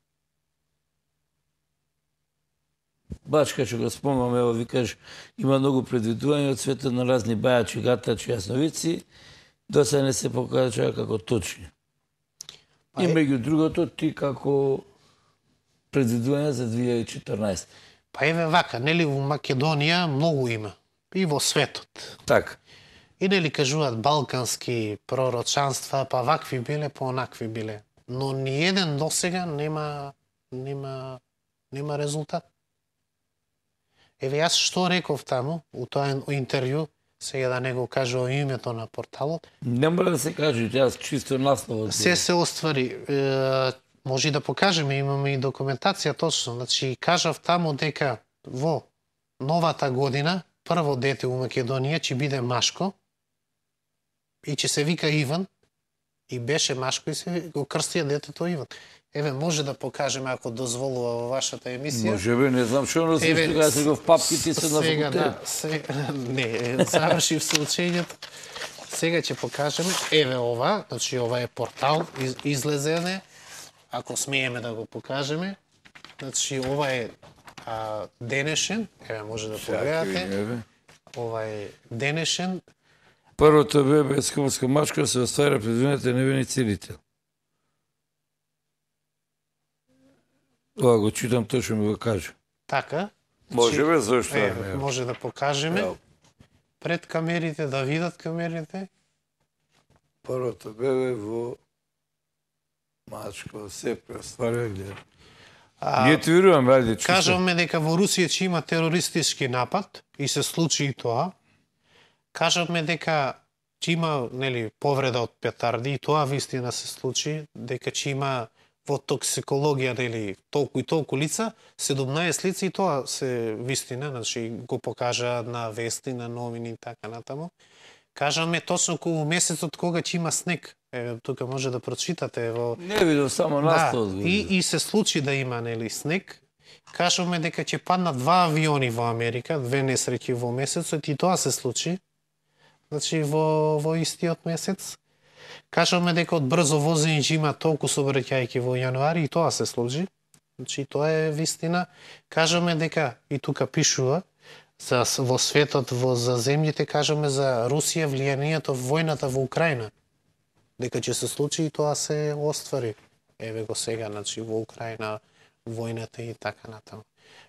Бачка што го спомнам, ево викаш, има многу предвидувања од светот на разни бајачи, гатачи, јасновици, до сега не се покажа како точни. И меѓу другото, ти како предвидување за две илјади и четрнаесета. Па еве вака, нели во Македонија многу има. И во светот. Така. И нели кажуваат балкански пророчанства, па вакви биле, па онакви биле. Но ни еден досега нема нема нема резултат. Еве јас што реков таму у тоа интервју, сега да не го кажувам името на порталот. Не мора да се каже, јас чисто насловот. Се се оствари. Е, може и да покажеме, имаме и документација точно. Значи, кажав таму дека во новата година прво дете у Македонија ќе биде машко и ќе се вика Иван и беше машко и се го крстија детето Иван. Еве, може да покажеме ако дозволува во вашата емисија. Може би, не знам што носиш тога се го в папките се на сега, факултет. да, сега, не, завршив се учењето. Сега ќе покажеме. Еве ова, значи ова е портал, из, излезене. Ако смееме да го покажеме. Значи ова е а, денешен, еве може да погледате. Ова е денешен. Првото бебе скопска мачка се оствара предвидувањето невени целител. Ова го читам, тој што ми го каже. Така. Може бе, зашто? Еве, може да покажеме. Пред камерите, да видат камерите. Првото бебе во мачка се преостварува гледа. Ние ти веруваме, ајде, чисто. Кажавме дека во Русија ќе има терористички напад и се случи и тоа. Кажавме дека ќе има, нели, повреда од петарди и тоа вистина се случи, дека ќе има во токсикологија, нели, толку и толку лица, седумнаесет лица и тоа се вистина, значи го покажа на вести, на новини и така натаму. Кажаме точно околу месецот кога ќе има снег. Еве, тука може да прочитате во... Не видов само наставот. Да, и, и се случи да има, нели, снег. Кажаме дека ќе паднат два авиони во Америка, две несреќи во месецот и тоа се случи. Значи во, во истиот месец. Кажаме дека од брзо возење ќе има толку сообраќајки во јануари и тоа се случи. Значи тоа е вистина. Кажаме дека и тука пишува за во светот, во за земјите, кажаме за Русија влијанието војната во Украина. Дека ќе се случи и тоа се оствари. Еве го сега, значи во Украина војната и така натаму.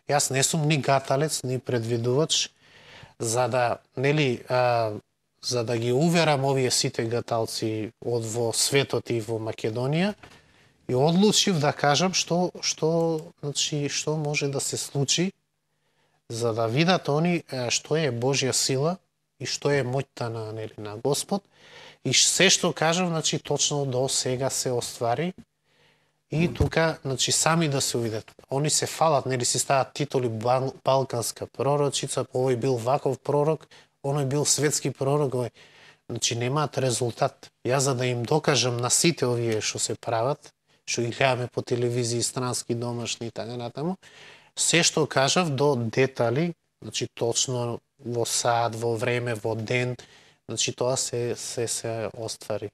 Јас не сум ни гаталец, ни предвидувач, за да, нели, а, за да ги уверам овие сите гаталци од во светот и во Македонија, и одлучив да кажам што што значи што може да се случи, за да видат они што е Божја сила и што е моќта на, нели, на Господ. И се што кажам, значи точно до сега се оствари. И тука, значи, сами да се увидат. Они се фалат, нели си стават титули бал, балканска пророчица, овој бил ваков пророк, оној бил светски пророк, овој. Значи немаат резултат. Јас за да им докажам на сите овие што се прават, што ги гледаме по телевизии, странски, домашни и така натаму, се што кажав до детали, Значи точно во сат, во време, во ден, значи тоа се се се оствари.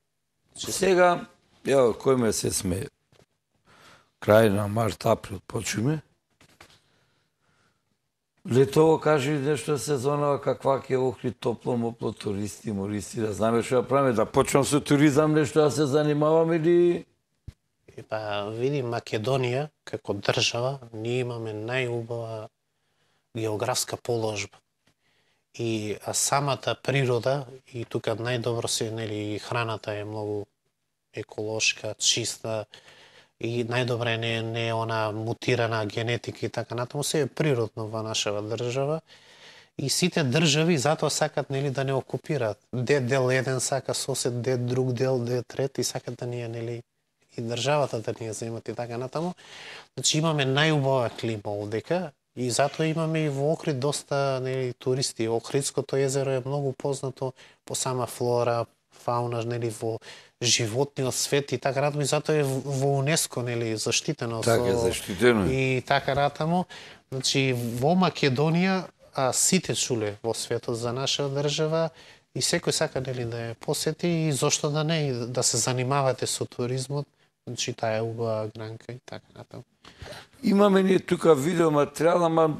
Значи, Сега, ево, кој месец сме? Крај на март, април почиме. Летово кажи нешто сезонава, каква ќе охри топло, мопло, туристи, мористи, да знаме што да правиме, да почнам со туризам нешто да се занимаваме или... Па, види, Македонија, како држава, ние имаме најубава географска положба. И а самата природа, и тука најдобро се, нели, и храната е многу еколошка, чиста, и најдобре не, не е она мутирана генетика и така натаму, се е природно во нашава држава. И сите држави затоа сакат, нели, да не окупираат. Де дел еден сака сосед, де друг дел, де трет, и сакат да ние, нели, и државата да ние земат и така натаму. Значи имаме најубава клима овдека, и затоа имаме и во Охрид доста, нели, туристи. Охридското езеро е многу познато по сама флора, фауна, нели, во животниот свет и така натаму, и затоа е во УНЕСКО, нели, заштитено. Така е, со... заштитено. И така натаму. Значи во Македонија а, сите чуле во светот за наша држава и секој сака, нели, да ја посети и зошто да не, и да се занимавате со туризмот. Значи таа е убава гранка и така натаму. Имаме ние тука видео материјал, ама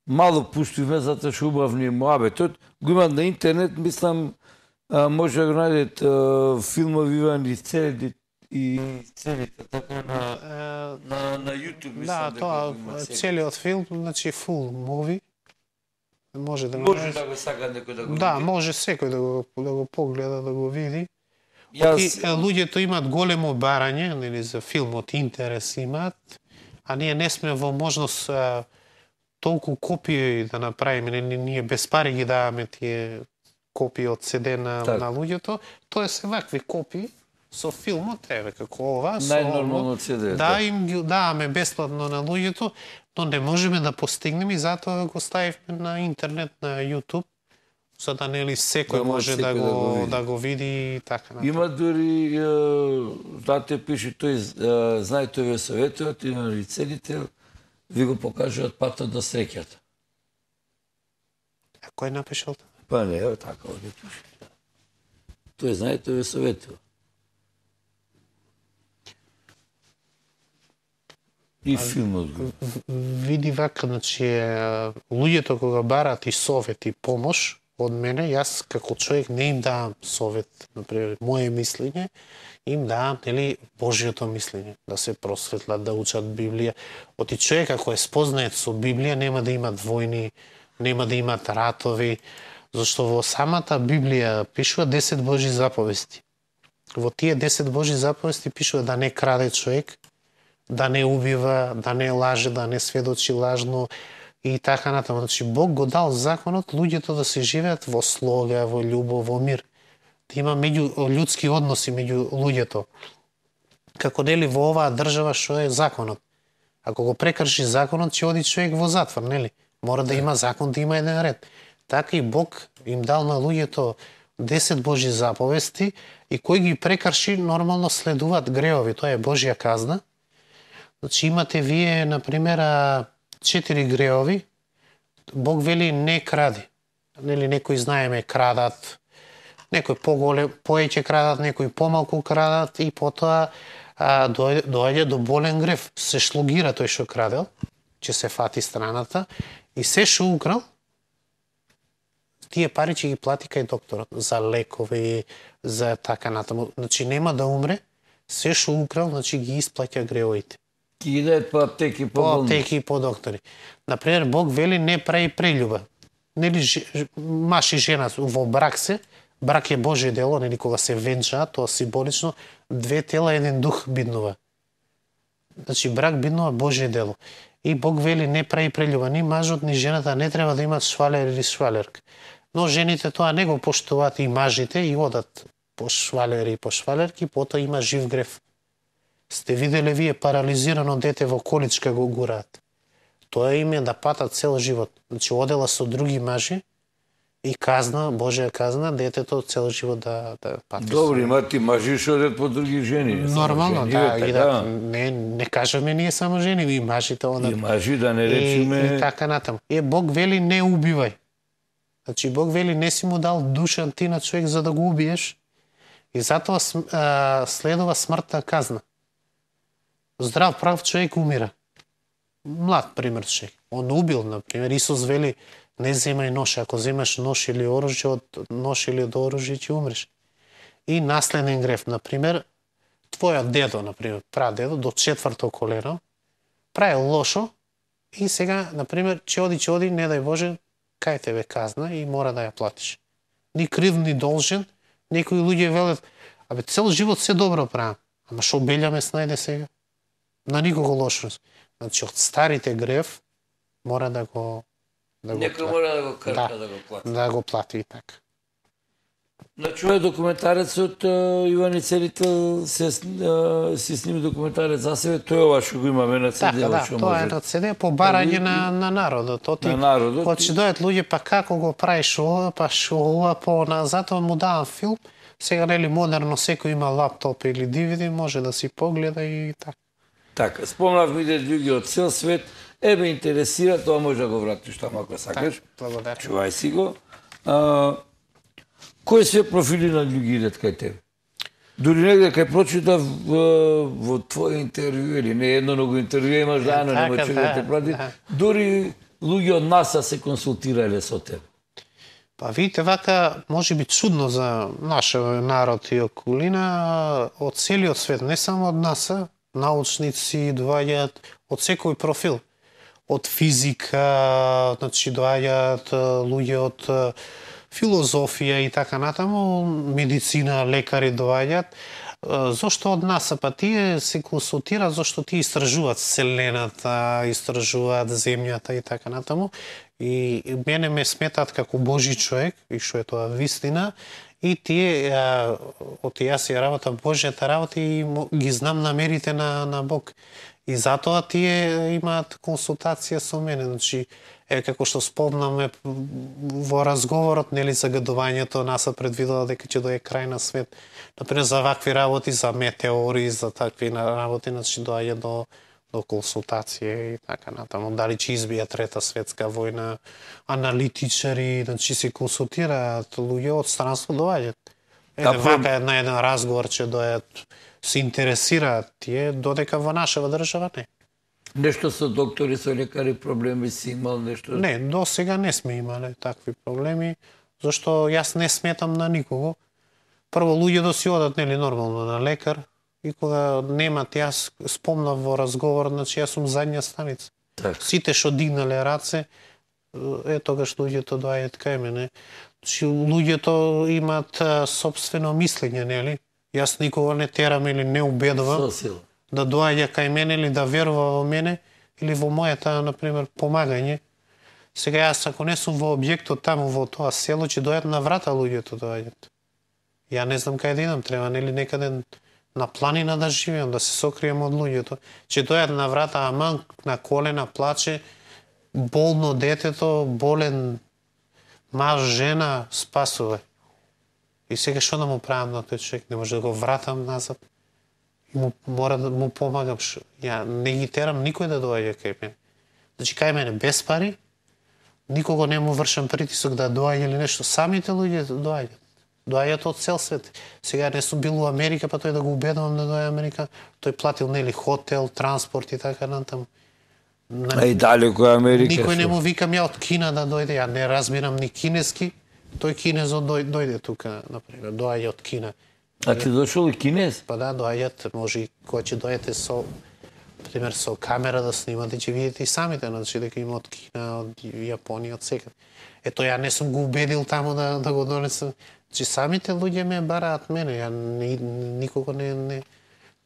мало пуштиме затоа што убавни муабетот. Го имат на интернет, мислам, а, може да го најдете филмови Иван и целите и целите така на на на YouTube, мислам. Да, тоа целиот филм, значи full movie. Може да го може да го сака некој да го Да, види. може секој да го да го погледа, да го види. Јас И е, луѓето имаат големо барање, нели, за филмот, интерес имаат, а ние не сме во можност а, толку копии да направиме, нели, ние без пари ги даваме тие копии од седе на, Так. на луѓето, тоа се вакви копии со филмот, еве како ова, со Најнормално ово. си да е, Да, да. им ги даваме бесплатно на луѓето, но не можеме да постигнеме и затоа го ставивме на интернет, на YouTube, за да нели секој Да може може да секој да го го види. да го види и така натаму. има дури, е, дате пише тој, е, знаете ве советот и на лицедител, ви го покажуваат патот до среќата. А кој напишал тоа? Па не, ево така овде пише. Тој знаете ве советот. И филмот го. Види вака, значи, е, луѓето кога барат и совет и помош од мене, јас како човек не им давам совет, например, моје мислење, им давам, нели, Божјото мислење, да се просветлат, да учат Библија. Оти човек ако е спознает со Библија, нема да имат војни, нема да имат ратови, зашто во самата Библија пишува десет Божји заповести. Во тие десет Божји заповести пишува да не краде човек, да не убива, да не лаже, да не сведочи лажно и така натаму. Значи Бог го дал законот луѓето да се живеат во слога, во љубов, во мир. Да има меѓу људски односи меѓу луѓето. Како нели во оваа држава што е законот. Ако го прекрши законот, ќе оди човек во затвор, нели? Мора да има закон, да има еден ред. Така и Бог им дал на луѓето десет Божји заповести и кој ги прекрши нормално следуваат греови, тоа е Божја казна. Значи имате вие, например, четири греови. Бог вели не кради. Нели некои знаеме крадат, некои поголем, поеќе крадат, некои помалку крадат и потоа а, дојде, дојде до болен грев. Се шлогира тој што крадел, ќе се фати страната и се што украл, тие пари ќе ги плати кај докторот за лекови, за така натаму. Значи нема да умре, се што украл, значи ги исплаќа греовите. Ки ги дадат по аптеки, по По болници. аптеки и по доктори. Например, Бог вели не прави прелюба. Нели ж- маж и жена во брак се, брак е Божје дело, нели кога се венчаат, тоа символично две тела еден дух биднува. Значи брак биднува Божје дело. И Бог вели не прави прелюба, ни мажот ни жената не треба да имат швалер или швалерка. Но жените тоа не го поштуваат и мажите и одат по швалери и по швалерки, потоа има жив грев. Сте виделе вие парализирано дете во количка го гураат. Тоа им е да патат цел живот. Значи одела со други мажи И казна, Божја казна, детето цел живот да, да пати. Добро, има ти мажи што одат по други жени. Нормално, жени, да, така. и да, не, не кажеме ние само жени, и мажите одат. И мажи, да не речеме... И, и така натаму. Е, Бог вели не убивај. Значи, Бог вели не си му дал душа ти на човек за да го убиеш, и затоа а, следува смртна казна. Здрав, прав човек умира. Млад, пример, човек. Он убил, например. Исус вели, не земај нож. Ако земаш нож или оружје, од нож или од оружје ќе умреш. И наследен греф, например, твојот дедо, например, прадедо, до четврто колено, прави лошо и сега, например, ќе оди, ќе оди, не дај Боже, кај тебе казна и мора да ја платиш. Ни крив, ни должен. Некои луѓе велат, абе, цел живот се добро правам. Ама шо белјаме снајде сега? На никого лошо. Значи, од старите греф мора да го да го Некој плати. мора да го крка, Да. да го плати. Да го плати и така. Значи, ова е документарецот Иван и Целител се, а, си сними документарец за себе, тој ова што го имаме на Така, цедево, да, што тоа е може. на цеде по барање на, на народот. Оти, На народот. Кога ќе дојат луѓе, па како го правиш ова, па шо ова, по она, затоа му давам филм. Сега, нели, модерно, секој има лаптоп или ди ви ди, може да си погледа и така. Така, спомнав ми да луѓе од цел свет, ебе интересира, тоа може да го вратиш таму ако сакаш. Благодарам. Чувај си го. А, кои се профили на луѓе идат кај тебе? Дури негде кај прочитав во, во твој интервју, или не едно многу интервју имаш заедно, нема така, човек да да, те прати, да. дури луѓе од НАСА се консултирале со тебе. Па видите, вака може би чудно за нашиот народ и околина, од целиот свет, не само од нас, научници доаѓаат од секој профил. Од физика, значи доаѓаат луѓе од филозофија и така натаму, медицина, лекари доаѓаат. Зошто од нас? Па тие се консултираат зашто тие истражуваат Вселената, истражуваат земјата и така натаму. И мене ме сметаат како Божи човек, и што е тоа вистина, и тие, а, од јас ја работам Божјата работа и мо- ги знам намерите на, на Бог. И затоа тие имаат консултација со мене. Значи, е, како што спомнаме во разговорот, нели, загадувањето, НАСА предвидела дека ќе дое крај на свет. Например, за вакви работи, за метеори, за такви работи, значи, доаѓа до до консултација и така натаму. Дали ќе избија трета светска војна, аналитичари, значи се консултираат луѓе од странство доаѓаат. Еде, Да, вака на еден разговор ќе дојат, се интересираат тие, додека во нашава држава не. Нешто со доктори, со лекари проблеми си имал нешто? Не, до сега не сме имале такви проблеми, зашто јас не сметам на никого. Прво, луѓе да си одат, нели, нормално на лекар, и кога немат, јас спомнав во разговор, значи јас сум задња станица. Така. Сите што дигнале раце, е тогаш луѓето доаѓаат кај мене. Значи, луѓето имаат а, собствено мислење, нели? Јас никога не терам или не убедувам Со сила. да доаѓа кај мене или да верува во мене или во мојата, например, помагање. Сега јас ако не сум во објектот таму во тоа село, ќе дојат на врата луѓето доаѓаат. Ја не знам кај да идам, треба нели некаде на планина да живеам, да се сокрием од луѓето. Ќе дојат на врата, аман на колена плаче, болно детето, болен маж, жена, спасувај. И сега што да му правам на тој човек? Не може да го вратам назад. И му, мора да му помагам. Шо? Ја не ги терам никој да доаѓа кај мене. Значи кај мене без пари, никого не му вршам притисок да доаѓа или нешто. Самите луѓе доаѓаат. Доаѓаат од цел свет. Сега не сум бил у Америка, па тој да го убедувам да доаѓа Америка. Тој платил нели хотел, транспорт и така натаму. На... А и далеко е Америка. Никој не што? му викам ја од Кина да дојде, ја не разбирам ни кинески. Тој кинезот дој, дојде тука, например, доаѓа од Кина. А ти дошол и кинез? Па да, доаѓат, може и кога ќе дојдете со, пример, со камера да снимате, ќе видите и самите, значи дека има од Кина, од Јапонија, од секаде. Ето, ја не сум го убедил таму да, да го донесам. Значи, самите луѓе ме бараат мене, ја ни, никого не, не,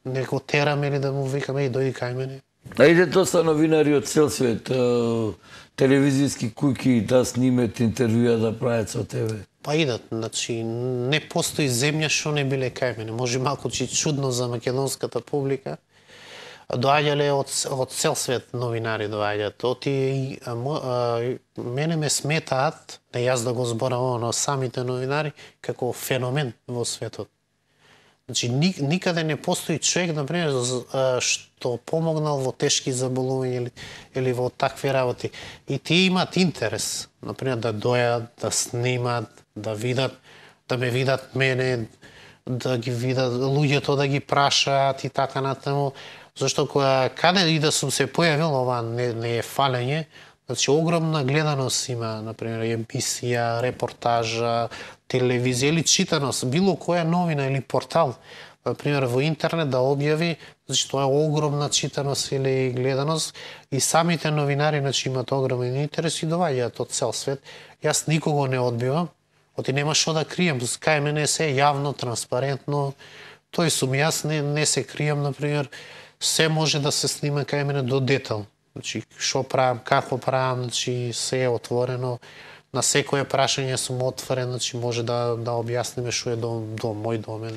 не го терам или да му викам, еј, дојди кај мене. А иде доста новинари од цел свет, е, телевизиски куќи да снимат интервјуа да прават со тебе. Па идат, значи не постои земја што не биле кај мене. Може малку че чудно за македонската публика, доаѓале од, од цел свет новинари доаѓаат. Оти и а, а, мене ме сметаат, не јас да го зборам, но самите новинари како феномен во светот. Значи никаде не постои човек, например, што помогнал во тешки заболувања или, или во такви работи. И тие имаат интерес, например, да дојат, да снимат, да видат, да ме видат мене, да ги видат луѓето, да ги прашаат и така натаму. Зашто кога каде и да сум се појавил, ова не, не е фалење, значи огромна гледаност има, например, емисија, репортажа, телевизија или читаност, било која новина или портал, например, во интернет да објави, значи тоа е огромна читаност или гледаност и самите новинари, значи имаат огромен интерес и доаѓаат од цел свет. Јас никого не одбивам, оти нема што да крием, кај мене се јавно, транспарентно, тој сум јас, не, не се крием, например, се може да се снима кај мене до детал. Значи, што правам, како правам, значи, се е отворено. На секое прашање сум отворен, значи, може да, да објасниме што е дом, дом, мој домен.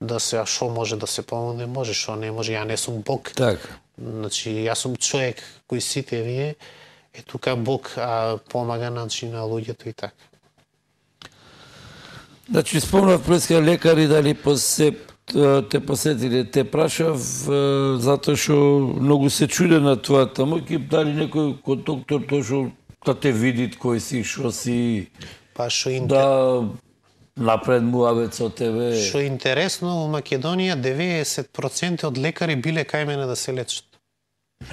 Да се, а што може да се помогне, може, што не може, ја не сум Бог. Така. Значи, јас сум човек, кој сите вие, е тука Бог а, помага, значи, на луѓето и така. Значи, спомнав преска лекари дали посеп те посетиле, те прашав затоа што многу се чуде на тоа таму, ќе дали некој кој доктор тоа што да те види кој си, што си, Па што да напред муавет со тебе. Што интересно, во Македонија деветдесет проценти од лекари биле кај мене да се лечат.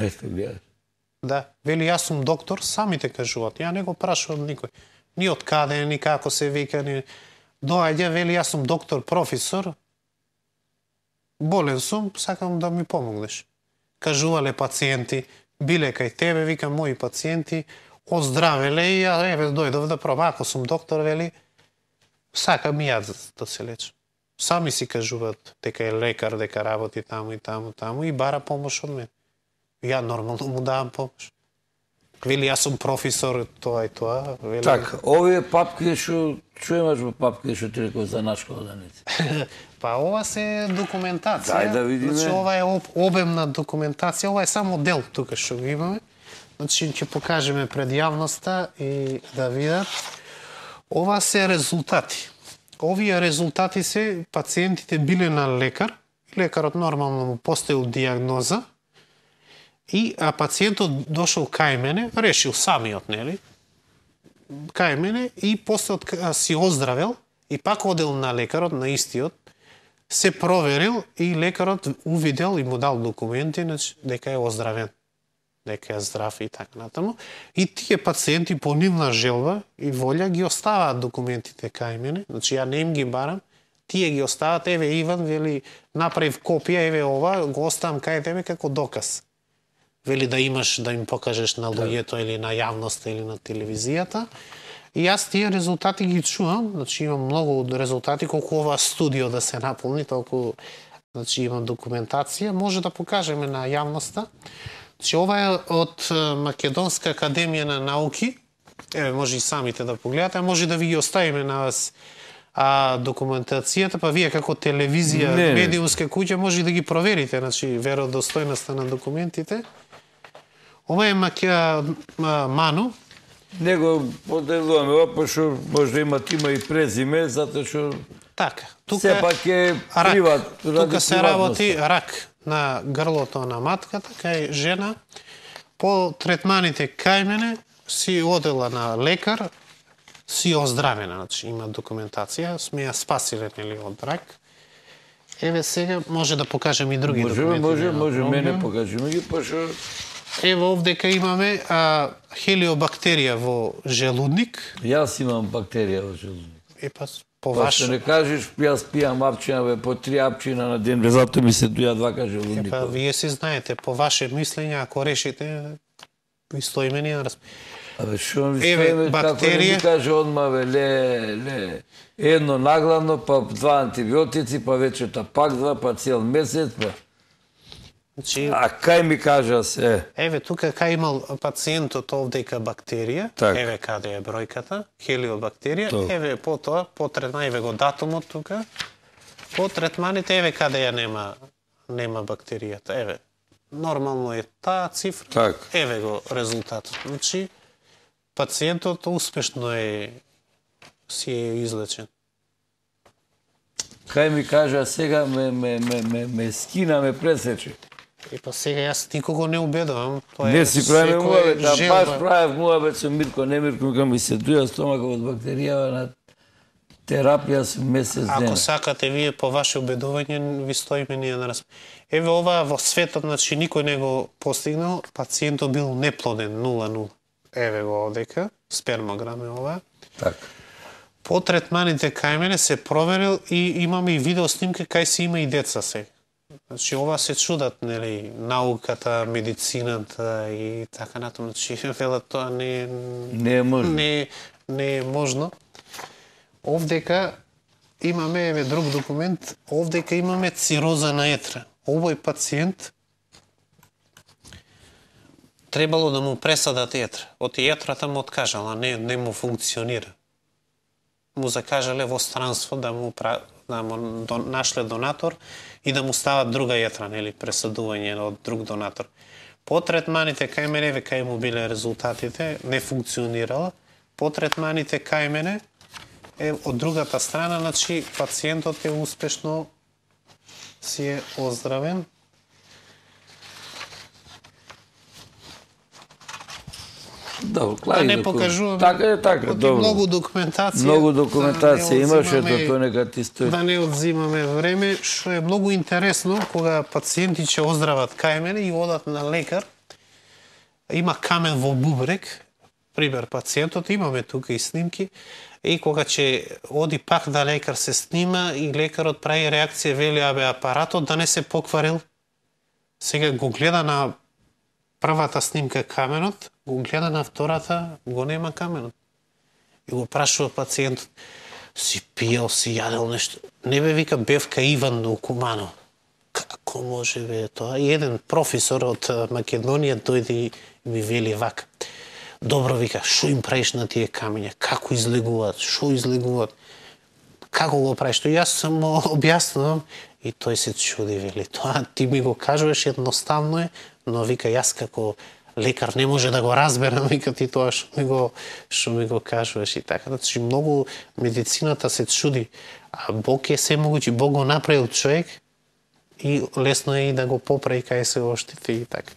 Ето гледаш. Да, вели јас сум доктор, самите кажуваат. Ја не го прашувам никој. Ни од каде, ни како се вика, ни доаѓа, вели јас сум доктор, професор. Болен сум, сакам да ми помогнеш. Кажувале пациенти, биле кај тебе, викам мои пациенти, оздравеле и ја еве дојдов да пробам. Ако сум доктор, вели, сакам и јас да се лечам. Сами си кажуваат дека е лекар, дека работи таму и таму, таму и бара помош од мен. Ја нормално му давам помош. Вели, јас сум професор, тоа и тоа. Вели... Така, овие папки што чуемаш во папки што ти реков за наш кладенец. Па ова се документација. Дај да видиме. Значи ова е об, обемна документација, ова е само дел тука што го имаме. Значи ќе покажеме пред јавноста и да видат. Ова се резултати. Овие резултати се пациентите биле на лекар, лекарот нормално му поставил дијагноза и а пациентот дошол кај мене, решил самиот, нели? Кај мене и после од, си оздравел и пак одел на лекарот, на истиот, се проверил и лекарот увидел и му дал документи, значи, дека е оздравен, дека е здрав и така натаму. И тие пациенти по нивна желба и волја ги оставаат документите кај мене, значи ја не им ги барам, тие ги оставаат, еве Иван, вели, направив копија, еве ова, го оставам кај тебе како доказ. Вели да имаш, да им покажеш на луѓето или на јавноста или на телевизијата. И јас тие резултати ги чувам, значи имам многу резултати, колку ова студио да се наполни, толку значи имам документација, може да покажеме на јавноста. Значи ова е од Македонска академија на науки. Еве може и самите да погледате, може да ви ги оставиме на вас а документацијата, па вие како телевизија, не, медиумска куќа може да ги проверите, значи веродостојноста на документите. Ова е Макја Ману. Него поделуваме ова, пошто може да имат има и презиме, затоа што така, тука сепак е рак. приват, Тука се работи рак на грлото на матката, кај жена. По третманите кај мене си одела на лекар, си оздравена, значи има документација, сме ја спасиле нели од рак. Еве сега може да покажем и други може, документи. може, може, мене покажеме ги, пошто Ево овдека имаме а, хелиобактерија во желудник. јас имам бактерија во желудник. Е па по Па ваш. што не кажеш, јас пијам апчина, бе, по три апчина на ден, бе, затоа ми се дуја двака Е желудник. па вие си знаете, по ваше мислење, ако решите, ви стоиме ние на разп... Абе, шо ми Еве, стоиме, како не бактерија. ми каже одма, бе, ле, ле, едно наглавно, па два антибиотици, па вечерта пак два, па цел месец, па. Значи, А кај ми кажа се? еве тука кај имал пациентот овдека бактерија, Так. еве каде е бројката, хелиобактерија, Тоа. еве по тоа, по третман, еве го датумот тука, по третманите, еве каде ја нема, нема бактеријата, еве, нормално е таа цифра, Так. еве го резултатот. Значи, пациентот успешно е си е излечен. Кај ми кажа сега ме, ме, ме, ме, ме скина, ме пресече. И па сега јас никого не убедувам. Тоа Не е си правиме секој муабет, а желба. баш правев муабет со Мирко, не Мирко, кога ми се дуја стомака од бактерија на терапија со месец дена. Ако сакате вие по ваше убедување, ви стоиме ние на раз. Еве ова во светот, значи никој не го постигнал, пациентот бил неплоден нула нула. Еве го одека, спермограм е ова. Така. По третманите кај мене се проверил и имаме и видео снимка кај се има и деца сега. Значи ова се чудат, нели, науката, медицината и така натаму. Значи велат тоа не Не е можно. не не е можно. Овдека имаме еве друг документ, овдека имаме цироза на етра. Овој пациент требало да му пресадат етра. Од етрата му откажала, не не му функционира. Му закажале во странство да му да му до, нашле донатор и да му стават друга етра, нели, пресадување од друг донатор. По третманите кај мене, еве кај му биле резултатите, не функционирала. По третманите кај мене, е од другата страна, значи пациентот е успешно си е оздравен. Добро, Да клари не документ. покажувам. Така е, така, добро. Многу документација. Многу документација да не имаше, одзимаме- ето тоа нека ти стои. Да не одзимаме време, што е многу интересно кога пациенти ќе оздрават кај мене и одат на лекар. Има камен во бубрек, пример пациентот, имаме тука и снимки, и кога ќе оди пак да лекар се снима и лекарот прави реакција, вели абе апаратот да не се покварил. Сега го гледа на првата снимка каменот, го гледа на втората, го нема каменот. И го прашува пациентот, си пиел, си јадел нешто. Не бе, вика, бевка Иван у Кумано. Како може бе тоа? И еден професор од Македонија дојде и ми вели вака. Добро, вика, шо им правиш на тие камења? Како излегуваат? Шо излегуваат? Како го правиш? Тоа јас сам му објаснувам и тој се чуди, вели. Тоа ти ми го кажуваш, едноставно е, но вика, јас како лекар не може да го разберам, вика ти тоа што ми го што ми го кажуваш и така. Значи многу медицината се чуди, а Бог е семогучи, Бог го направил човек и лесно е и да го поправи кај се оштити и така.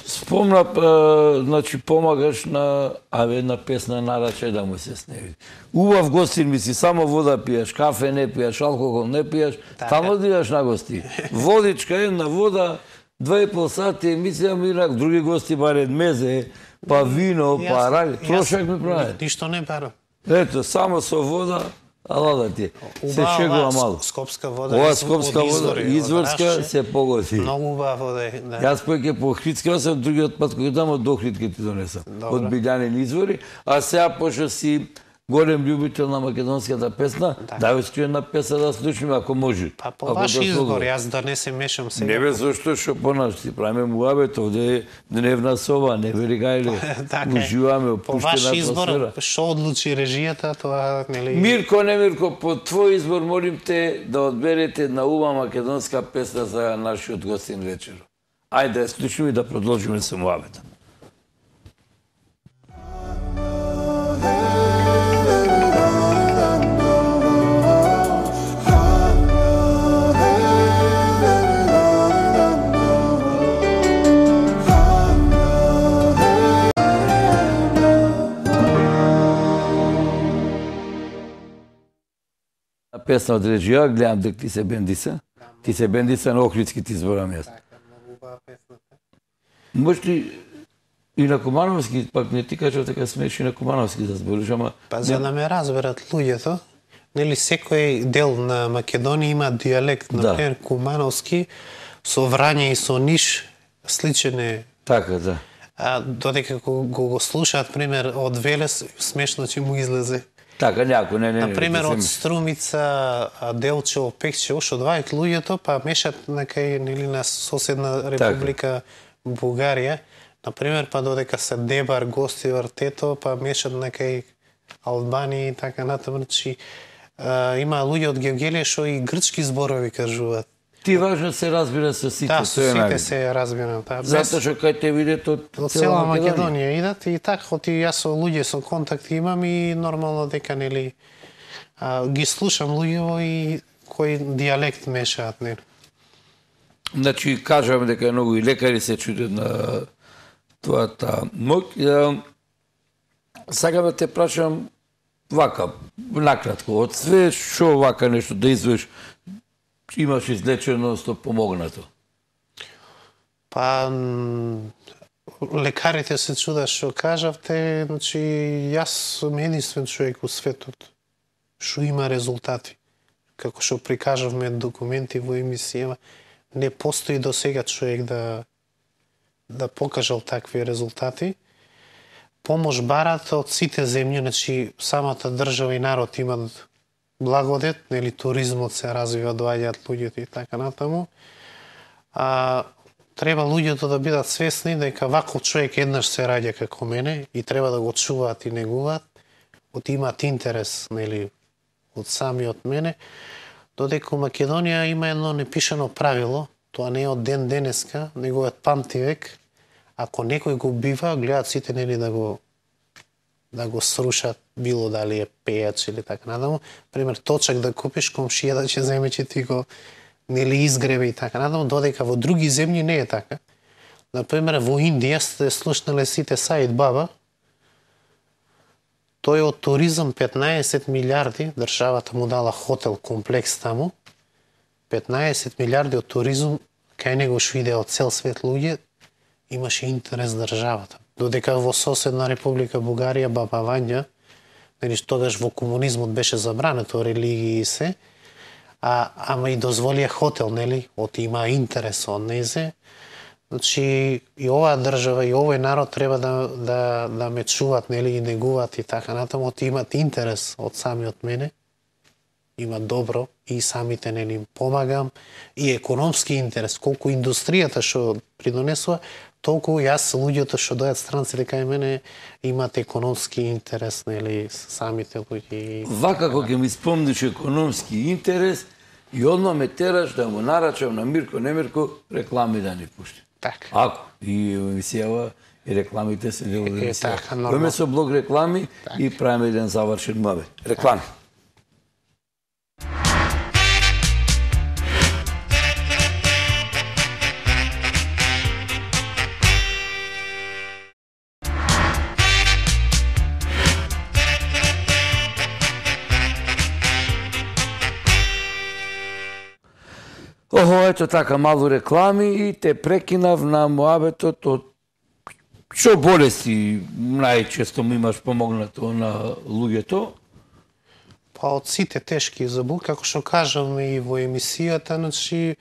Спомна, а, значи, помагаш на, абе, една песна нарачај да му се сневи. Убав гостин ми си, само вода пиеш, кафе не пиеш, алкохол не пиеш, тамо да идеш на гости. Водичка, една вода, два и пол сати емисија, мирак, други гости баре мезе, па вино, па ради. Трошак ми прави. Ништо не барам. Ето, само со вода, ала да ти. Се шегува мало. Скопска вода. Ова од скопска вода, извори, од изворска, Рашче. се погоди. Многу убава вода е, да. Јас поќе по Охридска осам, другиот пат кој дамо до Охридка ти донесам. Добро. Од Билјанин извори, а сега пошто си голем љубител на македонската песна, да ви една песна да слушаме ако може. Па по Ако ваш да избор, слугува. јас да не се мешам сега. Не бе, зашто што понаш ти правиме муабет, овде е дневна соба, не вери гајле. Така е. Уживаме, По ваш опуштена избор, атмосфера. што одлучи режијата, тоа нели. Мирко, не Мирко, по твој избор молим те да одберете една убава македонска песна за нашиот гостин вечер. Ајде, да слушаме и да продолжиме со муабета. Песна од режија, гледам дека ти се бендиса. Ти се бендиса на Охридски, ти зборам јас. Може ли и на Кумановски, пак не ти кажа така смеш и на Кумановски да збориш, ама... Па за да ме разберат луѓето, нели секој дел на Македонија има дијалект, Да. например Кумановски со Врање и со Ниш сличен е. Така, да. А додека го, го, го слушаат пример од Велес, смешно ќе му излезе. Така, някој, не, не, не. Например, не, не, од Струмица, а, Делчево, Пекчево, што одвајат луѓето, па мешат некај нели на соседна република Бугарија. Например, па додека се Дебар, Гостивар, Тето, па мешат некај Албанија и така натаму. Значи, а, има луѓе од Гевгелија што и грчки зборови кажуваат. Ти важно се разбира со сите, Да, со тоа е сите најбитно. се разбира, да. Без- Затоа што кај те видат од Од цела цела Македонија. Македонија идат и така, оти јас со луѓе со контакти имам и нормално дека нели а, ги слушам луѓево и кој дијалект мешаат, нели. Значи, кажам дека многу и лекари се чудат на твојата моќ. Е, Сакам да те прашам вака, накратко, од све што вака нешто да извеш, имаш излечено, сто помогнато? Па м, лекарите се чудат што кажавте, значи јас сум единствен човек во светот што има резултати. Како што прикажавме документи во емисија, не постои до сега човек да да покажал такви резултати. Помош барат од сите земји, значи самата држава и народ имат благодет, нели туризмот се развива, доаѓаат луѓето и така натаму. А треба луѓето да бидат свесни дека ваков човек еднаш се раѓа како мене и треба да го чуваат и негуваат, од имаат интерес, нели, од самиот мене, додека во Македонија има едно непишано правило, тоа не е од ден денеска, него е од памтивек. Ако некој го бива, гледаат сите нели да го да го срушат, било дали е пејач или така надаму. Пример, точак да купиш, комшија да ќе земе, че ти го нели изгребе и така надаму, додека во други земји не е така. Например, во Индија сте слушнале сите Саид Баба, тој од туризам петнаесет милиарди, државата му дала хотел комплекс таму, петнаесет милиарди од туризам, кај него што иде од цел свет луѓе, имаше интерес државата. Додека во соседна република Бугарија, Баба Вања, нели тогаш во комунизмот беше забрането религии и се, а ама и дозволија хотел, нели, од има интерес од незе. Значи и оваа држава и овој народ треба да да да ме чуваат, нели, и негуваат и така натаму, од имат интерес од самиот мене. Има добро и самите нели им помагам и економски интерес, колку индустријата што придонесува, толку јас луѓето што доаѓаат странците кај мене имаат економски интерес, нели, самите луѓе. Вака кога ќе ми спомниш економски интерес и одма ме тераш да му нарачам на Мирко Немирко реклами да ни пушти. Така. Ако и емисијава и рекламите се дел од Е, емисијава. така, нормално. Кој со блок реклами и правиме еден завршен муабет. Реклами. Охо, ето така, малу реклами и те прекинав на муабетот од што болести најчесто му имаш помогнато на луѓето? Па од сите тешки заболки, како што кажавме и во емисијата, значи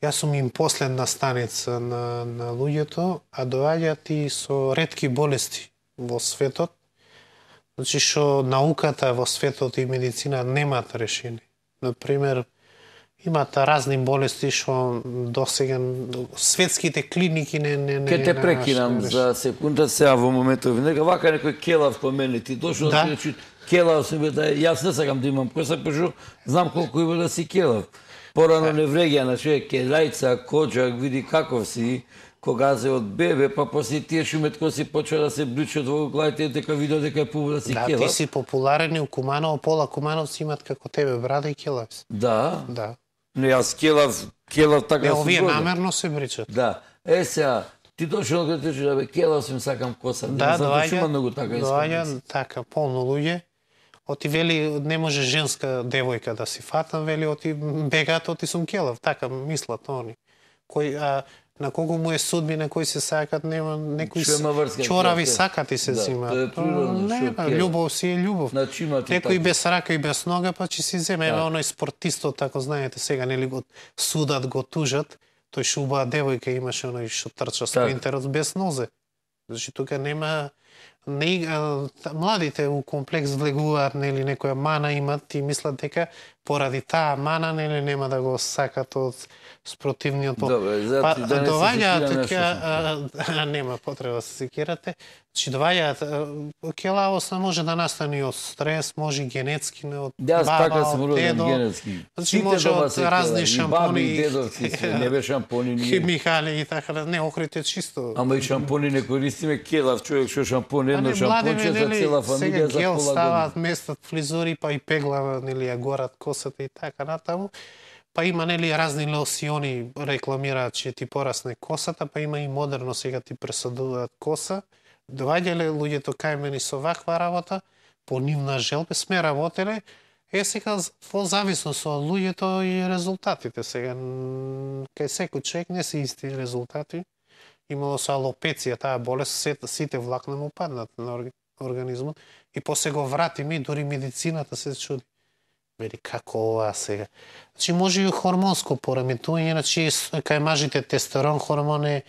јас сум им последна станица на, на луѓето, а доаѓаат и со ретки болести во светот, значи што науката во светот и медицина немаат решение. Например, имаат разни болести што досега светските клиники не не не. Ке те не прекинам нашли за секунда, сега во моментов нека вака некој келав помене ти дошол Да. да ти келав се бе да јас не сакам да имам коса, пошто знам колку има да си келав. Порано не вреѓа на човек келајца, коџак, види каков си, кога се од бебе, па после тие шуметко си почва да се бличат во главите, дека видео дека е пубаво да си Да, келав. ти си популарен и у Куманово, пола Кумановци имат како тебе брада и келав си. Да. Да. Не, јас келав, келав така Е, сум овие годен. намерно се бричат. Да. Е сега, ти дошол кога ти да бе келав сум сакам коса. Да, затоа што има доаѓа, многу така доаѓа искам. така полно луѓе. Оти вели не може женска девојка да си фатам, вели оти бегаат, оти сум келав, така мислат они. Кој а, на кого му е судбина, кој се сакат, нема некои Што има врска, чорави тоа, сакат и се да, зимаат. тоа е природно, Не, што па, келав. љубов си е љубов. Значи имате Некој така. без рака и без нога, па ќе си земе. Да. Ева оној спортистот, тако знаете, сега нели го судат, го тужат, тој што убава девојка имаше оној што трча Така. спринтерот без нозе. Значи тука нема Не, а, младите у комплекс влегуваат, нели, некоја мана имат и мислат дека поради таа мана, нели, нема да го сакат од спротивниот пол. Добре, зато па, да не се доваѓаат секираме така, нема потреба да се секирате, че доваѓаат келавост може да настане од стрес, може и генетски, не од Да, баба, така сум од роден дедо. генетски. Значи Сите може дома од се разни келави, и шампони, баби, и дедовци се, не бе шампони ние. химикали и така, не, охрите чисто. Ама и шампони не користиме, келав човек што шампон, едно шампонче за цела фамилија за сега гел пола ставаат година. местат фризури, па и пегла, нели, ја горат косата и така натаму. Па има, нели, разни лосиони рекламираат че ти порасне косата, па има и модерно сега ти пресадуваат коса. Доаѓале луѓето кај мене со ваква работа, по нивна желба сме работеле. Е, сега во зависност од луѓето и резултатите. Сега, кај секој човек не се исти резултати. Имало со алопеција, таа болест, сите влакна му паднат на организмот. И после го вратиме и дури медицината се чуди. Вели, како ова сега? Значи, може и хормонско пореметување, значи, кај мажите тестерон хормон е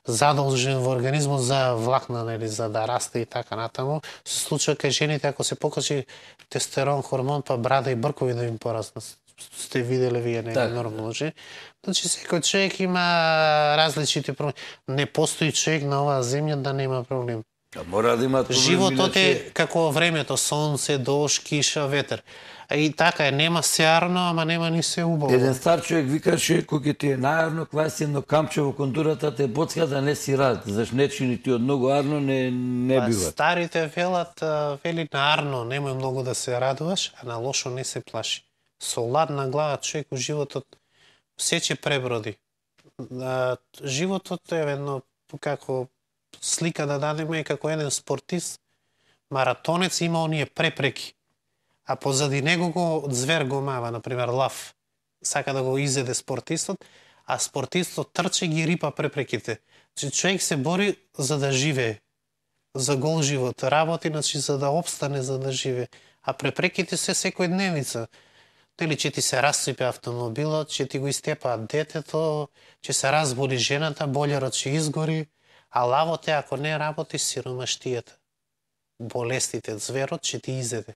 задолжен во организмот за влакна, нели, за да расте и така натаму. Се случува кај жените, ако се покачи тестерон хормон, па брада и бркови да им пораснат. Сте виделе вие, не е нормално, че? Значи, секој човек има различните проблеми. Не постои човек на оваа земја да нема проблем. А мора да има проблем, Животот иначе... е како времето, сонце, дожд, киша, ветер. И така е, нема сеарно, ама нема ни се убаво. Еден стар човек викаше, кој ти е најарно, кваси едно камче во кондурата, те боцка да не си рад, заш не чини ти од многу арно, не, не па, бива. Старите велат, вели на арно, немој многу да се радуваш, а на лошо не се плаши. Со ладна глава човек у животот сече преброди. Животот е едно, како слика да дадеме, како еден спортист, маратонец има оние препреки. А позади него го звер го мава, например лав. Сака да го изеде спортистот, а спортистот трче ги рипа препреките. Че човек се бори за да живее, за гол живот, работи, значи за да обстане, за да живее. А препреките се секојдневница. Дали че ти се рассипе автомобилот, че ти го истепаат детето, че се разболи жената, болерот ќе изгори, а лавот е ако не работи сиромаштијата. Болестите, зверот ќе ти изеде.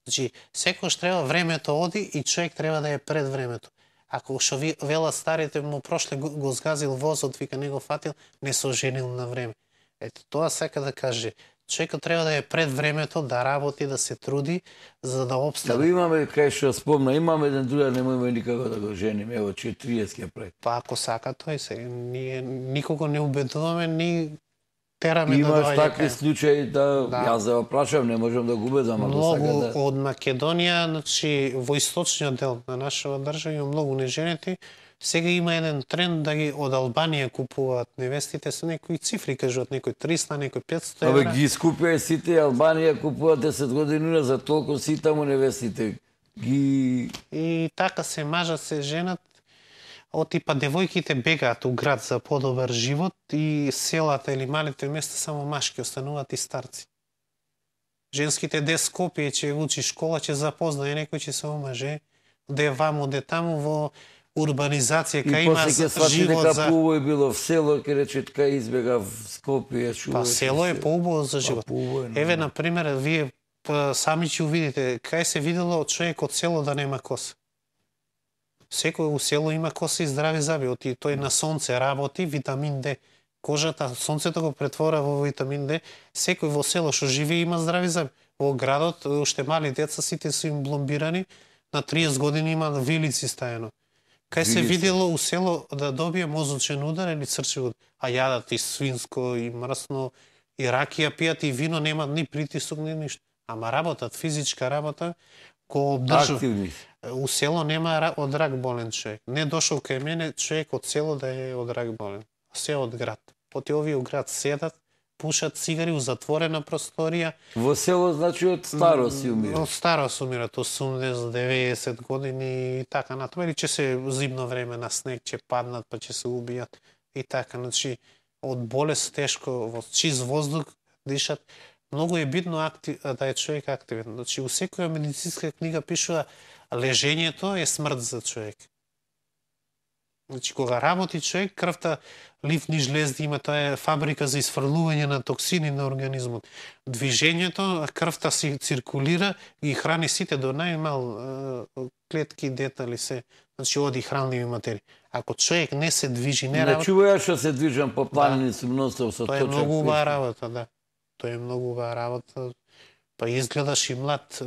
Значи, секојаш треба времето оди и човек треба да е пред времето. Ако што ви велат старите му прошле го, го згазил возот, вика не го фатил, не се оженил на време. Ето тоа сака да каже. Човекот треба да е пред времето, да работи, да се труди, за да обстане. Да имаме, кај што спомна, имаме еден друга, немојме никако да го женим, ево, четириесет прави. Па ако сака тој се, ние никого не убедуваме, ни тераме Имаш да доаѓа. Имаш такви кај... случаи да, да, јас да го прашам, не можам да го убедам, ако многу сака да... од Македонија, значи во источниот дел на нашава држава има многу неженети. Сега има еден тренд да ги од Албанија купуваат невестите со некои цифри, кажуваат некои триста, некои петстотини евра. Абе ги искупија сите, Албанија купуваат десет години за толку си таму невестите. Ги... И така се мажат, се женат. Од типа девојките бегаат у град за подобар живот и селата или малите места само машки остануваат и старци. Женските де Скопје ќе учи школа, ќе запознае некој, ќе се омаже, де ваму, де таму во урбанизација, кај има живот дека за... поубаво е било в село, ке рече така избега в Скопје, Па село е поубаво за живот. Па, Еве, например, вие сами ќе увидите, кај се видело човек од село да нема коса. Секој у село има коса и здрави заби, оти тој на сонце работи, витамин Д. Кожата, сонцето го претвора во витамин Д. Секој во село што живее има здрави заби. Во градот, уште мали деца, сите се им бломбирани, на триесет години има вилици стаено. Кај се видело у село да добие мозочен удар или црчев удар, а јадат и свинско, и мрсно, и ракија пијат, и вино, немат ни притисок, ни ништо. Ама работат, физичка работа, го обдржува. Активни. У село нема од рак болен човек. Не дошол кај мене човек од село да е од рак болен. Се од град. Поти овие у град седат, пушат цигари у затворена просторија. Во село, значи, од старо си умира. Од старо си умират, осумдесет, деветдесет години и така натаму. Или ќе се зимно време на снег, ќе паднат, па ќе се убијат и така. Значи, од болест тешко, во чист воздух дишат. Многу е битно актив, да е човек активен. Значи, у секоја медицинска книга пишува лежењето е смрт за човек. Значи, кога работи човек, крвта, ливни жлезди има, тоа е фабрика за изфрлување на токсини на организмот. Движењето, крвта си циркулира и храни сите до најмал клетки, детали, се. Значи, оди хранливи материи. Ако човек не се движи, не работи... Не чува што се движам по планини, сум носел со точак. Тоа е многу убава работа, да. Тоа е многу убава работа. Па изгледаш и млад,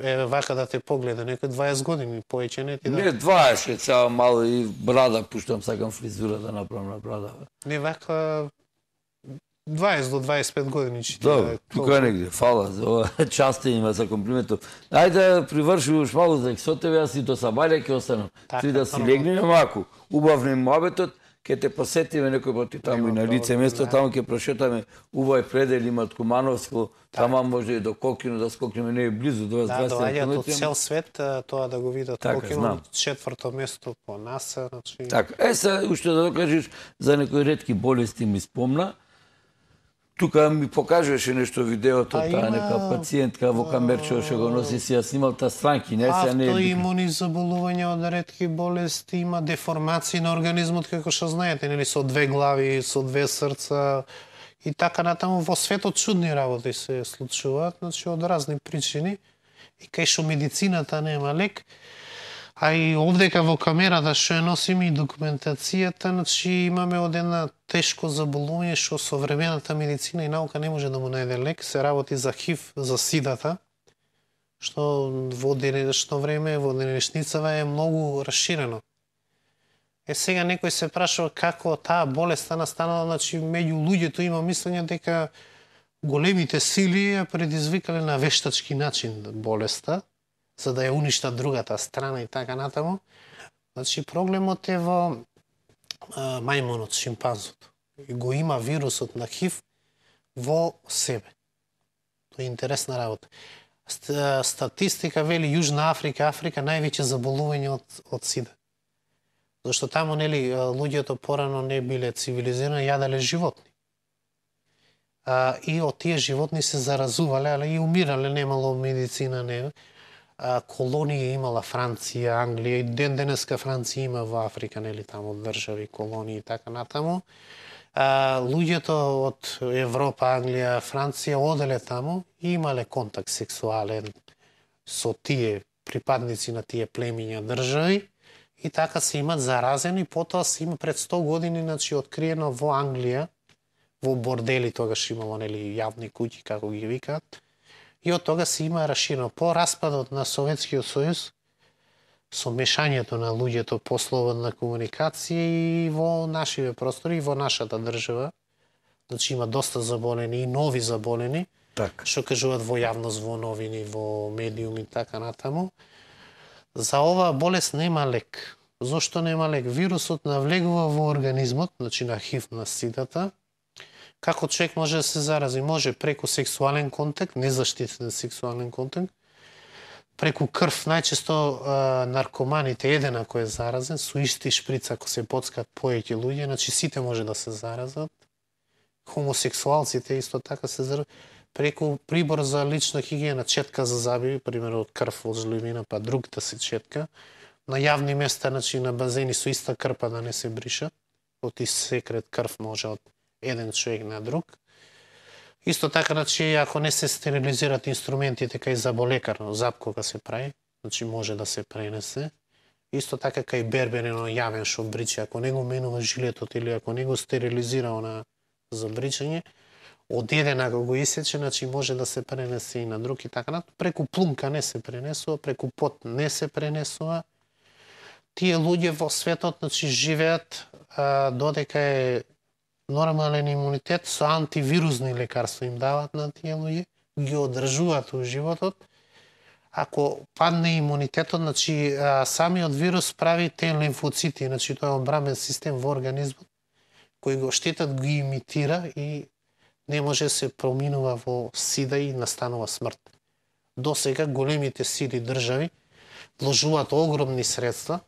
е вака да те погледа, некој дваесет години, повеќе не ти да... Не, дваесет, сега мало и брада, пуштам, сакам фризура да направам на брада. Не, вака дваесет до дваесет и пет години че ти Добро, да... тука негде, фала за ова, част има за комплиментов. Ајде да привршуваш малку за со тебе, јас и до сабајле ќе останам. Ти да си легнеме маку, убав не мобетот, ќе те посетиме некој пати таму и на лице место, таму ќе прошетаме убави предели имат Кумановско, тама може и до Кокино да скокнеме, не е близу до вас. Да, доаѓаат од цел свет тоа да го видат. Кокино, четврто место по нас, значи. Така, е се уште да докажеш за некои ретки болести ми спомна. Тука ми покажуваше нешто видеото, таа има... нека пациентка во камерче што го носи, си ја снимал таа странки, не се не е. Автоимуни заболувања од ретки болести, има деформации на организмот, како што знаете, нели, со две глави, со две срца и така натаму. Во светот чудни работи се случуваат, значи од разни причини. И кај што медицината нема лек, а и овдека во камерата што ја носиме и документацијата, значи имаме од една тешко заболување што современата медицина и наука не може да му најде лек, се работи за ХИВ, за сидата, што во денешно време, во денешницава е многу расширено. Е сега некој се прашува како таа болест настанала, значи меѓу луѓето има мислење дека големите сили ја предизвикале на вештачки начин болеста, за да ја уништат другата страна и така натаму. Значи проблемот е во а, мајмунот, шимпанзото. И го има вирусот на ХИВ во себе. Тоа е интересна работа. Статистика вели Јужна Африка, Африка највеќе заболување од, од сида. Зашто таму, нели, луѓето порано не биле цивилизирани, јаделе животни. А, и од тие животни се заразувале, али и умирале, немало медицина, не. А, колонија имала Франција, Англија, и ден денеска Франција има во Африка, нели, таму држави, колонии и така натаму. А, луѓето од Европа, Англија, Франција оделе таму и имале контакт сексуален со тие припадници на тие племиња држави и така се имат заразени. Потоа се има пред сто години, значи, откриено во Англија, во бордели, тогаш имало, нели, јавни куќи, како ги викаат, и од тога се има расширено. По распадот на Советскиот сојуз, со мешањето на луѓето по слободна комуникација и во нашиве простори, и во нашата држава, значи има доста заболени и нови заболени, так, што кажуваат во јавност, во новини, во медиуми и така натаму. За оваа болест нема лек. Зошто нема лек? Вирусот навлегува во организмот, значи на ХИВ, на сидата. Како човек може да се зарази? Може преку сексуален контакт, незаштитен сексуален контакт, преку крв, најчесто а, наркоманите, еден ако е заразен, со исти шприц ако се поцкат повеќе луѓе, значи сите може да се заразат. Хомосексуалците исто така се заразат. Преку прибор за лична хигиена, четка за заби, пример од крв од жливина, па другата се четка. На јавни места, значи на базени со иста крпа да не се бриша, од исекрет крв може од еден човек на друг. Исто така, значи, ако не се стерилизират инструментите кај заболекар, зап кога се прави, значи може да се пренесе. Исто така кај берберено јавен што бриче, ако не го менува жилетот или ако не го стерилизира на за бричање, од еден ако го исече, значи може да се пренесе и на друг и така. Преку плумка не се пренесува, преку пот не се пренесува. Тие луѓе во светот, значи, живеат а, додека е нормален имунитет, со антивирусни лекарства им дават на тие луѓе, ги одржуваат во животот. Ако падне имунитетот, значи самиот вирус прави те лимфоцити, значи тоа е одбранбен систем во организмот, кој го штетот ги имитира и не може се проминува во сида и настанува смрт. До сега големите сили држави вложуваат огромни средства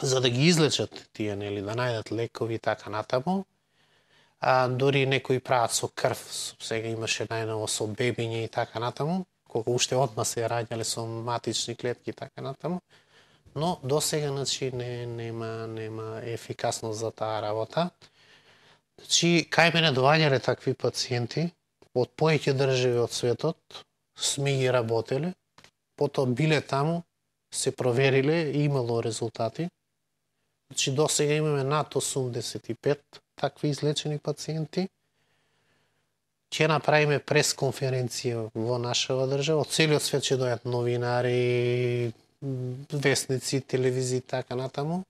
за да ги излечат тие, нели, да најдат лекови и така натаму. А, дори некои прават со крв, сега имаше најново со бебиња и така натаму, колку уште одма се раѓале со матични клетки и така натаму. но до сега значи не нема нема ефикасност за таа работа. Значи кај мене доаѓале такви пациенти од повеќе држави од светот, сме ги работеле, потоа биле таму, се провериле и имало резултати. Значи до сега имаме над осумдесет и пет такви излечени пациенти. Ќе направиме пресконференција во нашава држава, од целиот свет ќе дојдат новинари, вестници, телевизии, така натаму.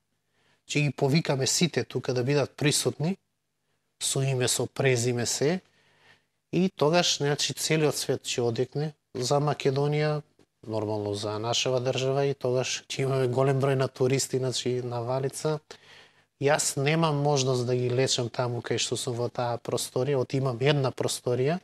Ќе ги повикаме сите тука да бидат присутни, со име, со презиме се, и тогаш значи целиот свет ќе одекне за Македонија, нормално за нашава држава, и тогаш ќе имаме голем број на туристи, значи на Валица. Јас немам можност да ги лечам таму кај што сум во таа просторија, од имам една просторија.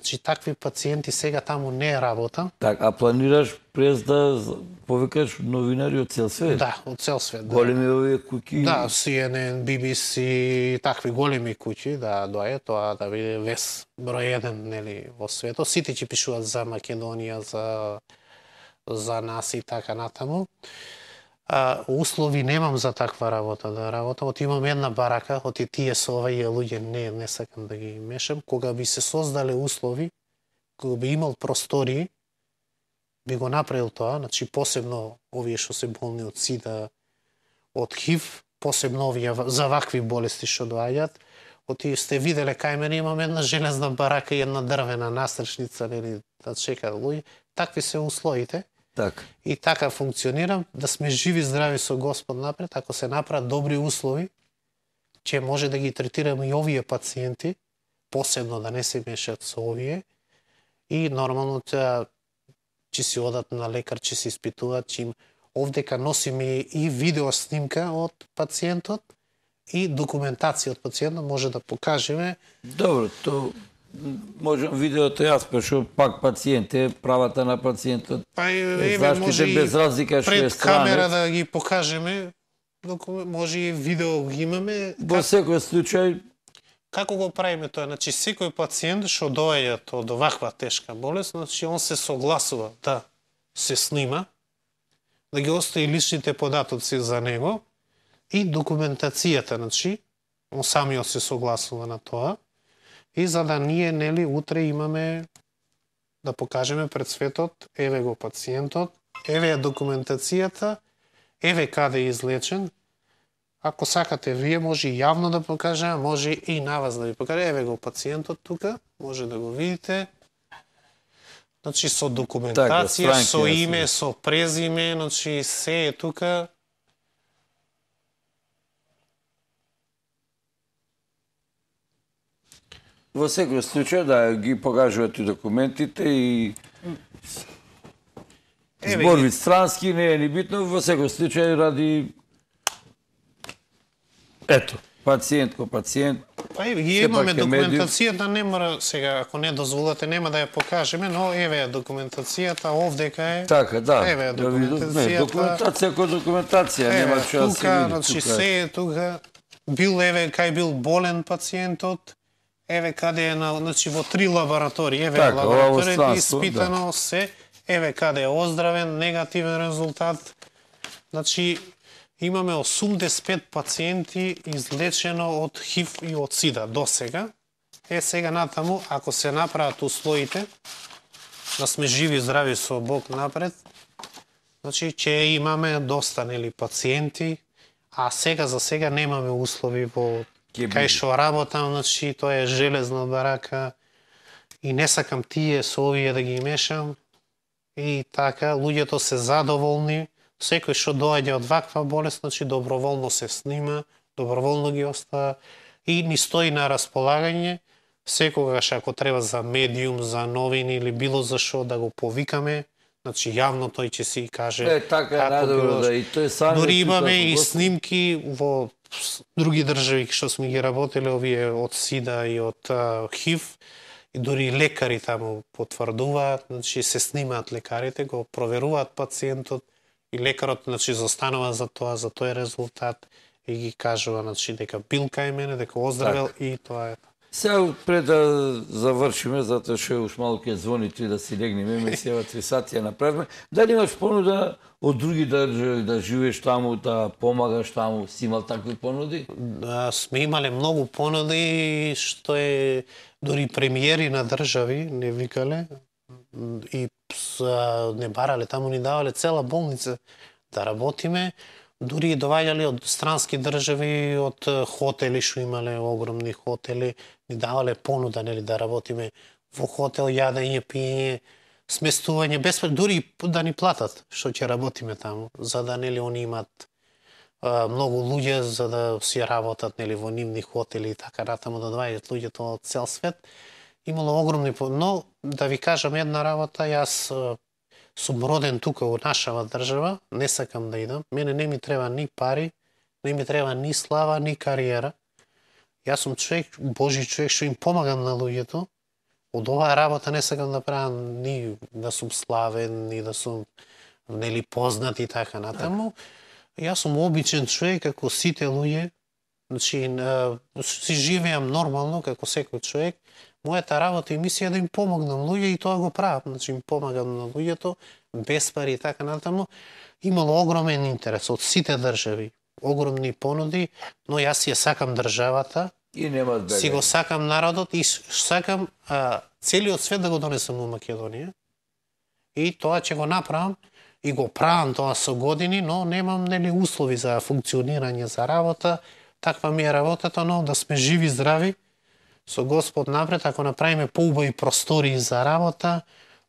Значи такви пациенти сега таму не работам. Так, а планираш през да повикаш новинари од цел свет? Да, од цел свет. Да. Големи овие куќи? Да, Си Ен Ен, Би Би Си, такви големи куќи, да доаѓа тоа да биде вес број еден, нели, во светот. Сите ќе пишуваат за Македонија, за за нас и така натаму. А, услови немам за таква работа да работам. Од имам една барака, од и тие со овие луѓе не не сакам да ги мешам. Кога би се создале услови, кога би имал простории, би го направил тоа, значи посебно овие што се болни од сида, од ХИВ, посебно овие за вакви болести што доаѓаат. Од и сте виделе кај мене имам една железна барака и една дрвена настршница, нели, да чекаат луѓе. Такви се условите. Так. И така функционирам, да сме живи здрави со Господ напред, ако се направат добри услови, ќе може да ги третираме и овие пациенти, посебно да не се мешат со овие, и нормално ќе ќе си одат на лекар, ќе се испитуваат, ќе им овдека носиме и видео снимка од пациентот и документација од пациентот, може да покажеме. Добро, то можам видеото јас, пешо пак пациент е, правата на пациентот. Па еве може без разлика што е пред камера да ги покажеме, може и видео ги имаме. Во секој случај Како го правиме тоа? Значи секој пациент што доаѓа од оваква тешка болест, значи он се согласува да се снима, да ги остави личните податоци за него и документацијата, значи он самиот се согласува на тоа. И за да ние, нели, утре имаме да покажеме пред светот, еве го пациентот, еве е документацијата, еве каде е излечен. Ако сакате вие, може и јавно да покажеме, може и на вас да ви покажеме. Еве го пациентот тука, може да го видите. Значи со документација, така, со име, со презиме, значи се е тука. Во секој случај да ги покажуваат и документите и зборви странски, не е ни битно, во секој случај ради ето, пациент ко пациент. Па еве, ги имаме документацијата, не мора сега, ако не дозволате, нема да ја покажеме, но еве е документацијата, овдека е. Така, да. Еве е документацијата. Не, документација ко документација, нема што да се види. Значи се е тука. Бил еве кај бил болен пациентот. Еве каде е на, значи во три лаборатории, еве така, лабораторија испитано да. Се, еве каде е оздравен, негативен резултат. Значи имаме осумдесет и пет пациенти излечено од ХИВ и од СИДА до сега. Е сега натаму, ако се направат условите, да сме живи здрави со Бог напред, значи ќе имаме доста, нели, пациенти, а сега за сега немаме услови во кај што работам, значи тоа е железна барака и не сакам тие со овие да ги мешам. И така, луѓето се задоволни, секој што доаѓа од ваква болест, значи доброволно се снима, доброволно ги остава и ни стои на располагање, секогаш ако треба за медиум, за новини или било за што да го повикаме, значи јавно тој ќе си каже. Е, така е најдобро да и тој сам. Дори имаме и снимки во други држави што сме ги работеле, овие од СИДА и од ХИВ, и дури лекари таму потврдуваат, значи се снимаат лекарите, го проверуваат пациентот и лекарот, значи, застанува за тоа, за тој резултат и ги кажува, значи, дека бил кај мене, дека оздравел так. И тоа е. Сега пред да завршиме, затоа што уш малку ќе звони ти да си легнеме, емисија три сати ја направиме. Дали имаш понуда од други држави да живееш таму, да помагаш таму? Си имал такви понуди? Да, сме имале многу понуди, што е дури премиери на држави не викале и са, не барале, таму ни давале цела болница да работиме. Дури и доваѓале од странски држави, од хотели што имале, огромни хотели, ни давале понуда, нели, да работиме во хотел, јадење, пиење, сместување, без дури да ни платат што ќе работиме таму, за да, нели, они имат а, многу луѓе за да си работат, нели, во нивни хотели и така натаму, да доаѓаат луѓето од цел свет. Имало огромни, но да ви кажам една работа, јас сум роден тука во нашава држава, не сакам да идам. Мене не ми треба ни пари, не ми треба ни слава, ни кариера. Јас сум човек, Божи човек, што им помагам на луѓето. Од оваа работа не сакам да правам ни да сум славен, ни да сум, нели, познат и така натаму. Јас сум обичен човек, како сите луѓе. Значи, си живеам нормално, како секој човек. Мојата работа и мисија е да им помогнам луѓе и тоа го правам. Значи, им помагам на луѓето, без пари и така натаму. Имало огромен интерес од сите држави, огромни понуди, но јас ја сакам државата, и нема бега. Си го сакам народот и сакам а, целиот свет да го донесам во Македонија. И тоа ќе го направам и го правам тоа со години, но немам, нели, услови за функционирање, за работа. Таква ми е работата, но да сме живи, здрави, со Господ напред, ако направиме поубави простори за работа,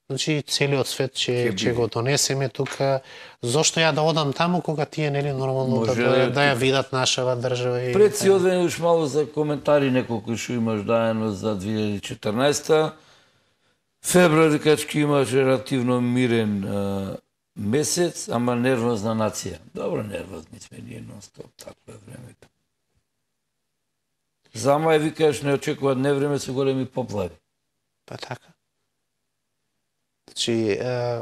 значи целиот свет ќе ќе го донесеме тука. Зошто ја да одам таму кога тие, нели, нормално да, да, да ја видат нашава држава и пред си одвен уш малку за коментари неколку што имаш даено за две илјади и четрнаесета. Февруари качки имаш релативно мирен а, месец, ама нервозна нација. Добро, нервозни сме ние нон-стоп, такво е времето. За мај викаш не очекуваат невреме со големи поплави. Па така. Значи, е,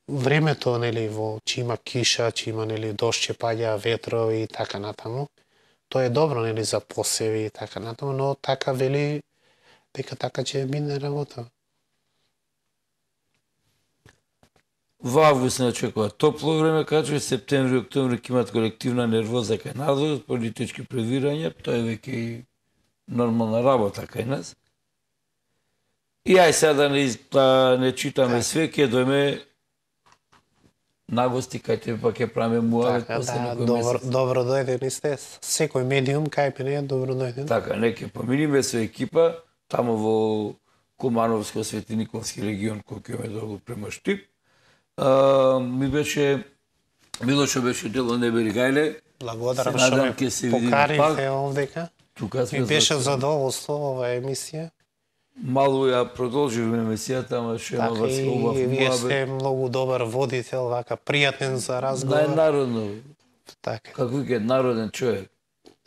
времето, нели, во че има киша, че има, нели, дожд, че паѓа, ветрови и така натаму, тоа е добро, нели, за посеви и така натаму, но така вели дека така ќе мине работа. Во август не очекува топло време, качува септември и октомври ќе имат колективна нервоза кај надвор, политички превирања, тоа е веќе и нормална работа кај нас. И ај сега да не, да не читаме све, ќе дојме нагости кај тебе, па ќе правиме муавет така, после да, некој добро, месец. добро дојден и сте. Секој медиум кај мене е добро дојден. Така, неќе поминиме со екипа, таму во Кумановско Светиниковски регион, кој ќе ме долу према Штип. Uh, ми беше, Милошо беше дел од Небери Гајле. Благодарам Се што надам ме ќе се видиме покарите пак. овдека. Тука сме Ми беше за- задоволство оваа емисија. Малку ја продолживме емисијата, ама ше има Така, вас и убав вие муабет. сте многу добар водител, вака пријатен за разговор. Најнародно, Така. како вика народен човек.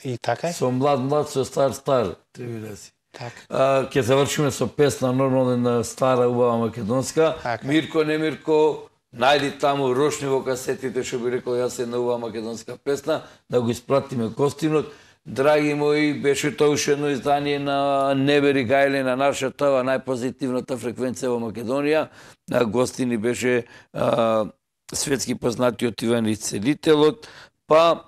И така е? Со млад млад, со стар стар, треба да си. Така. А, ќе завршиме со песна нормална на стара убава македонска. Така. Мирко не Мирко, најди таму рошни во касетите, што би рекол јас една убава македонска песна, да го испратиме гостинот. Драги мои, беше тоа уште едно издание на Небери Гајле, на нашата најпозитивната фреквенција во Македонија. На гостини беше а, светски познатиот Иван Ицелителот, па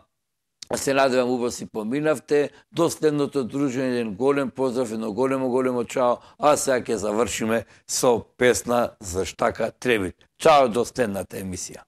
се надевам убаво си поминавте. До следното дружење, еден голем поздрав, едно големо, големо чао, а сега ќе завршиме со песна за Штака Требит. Чао до следната емисија.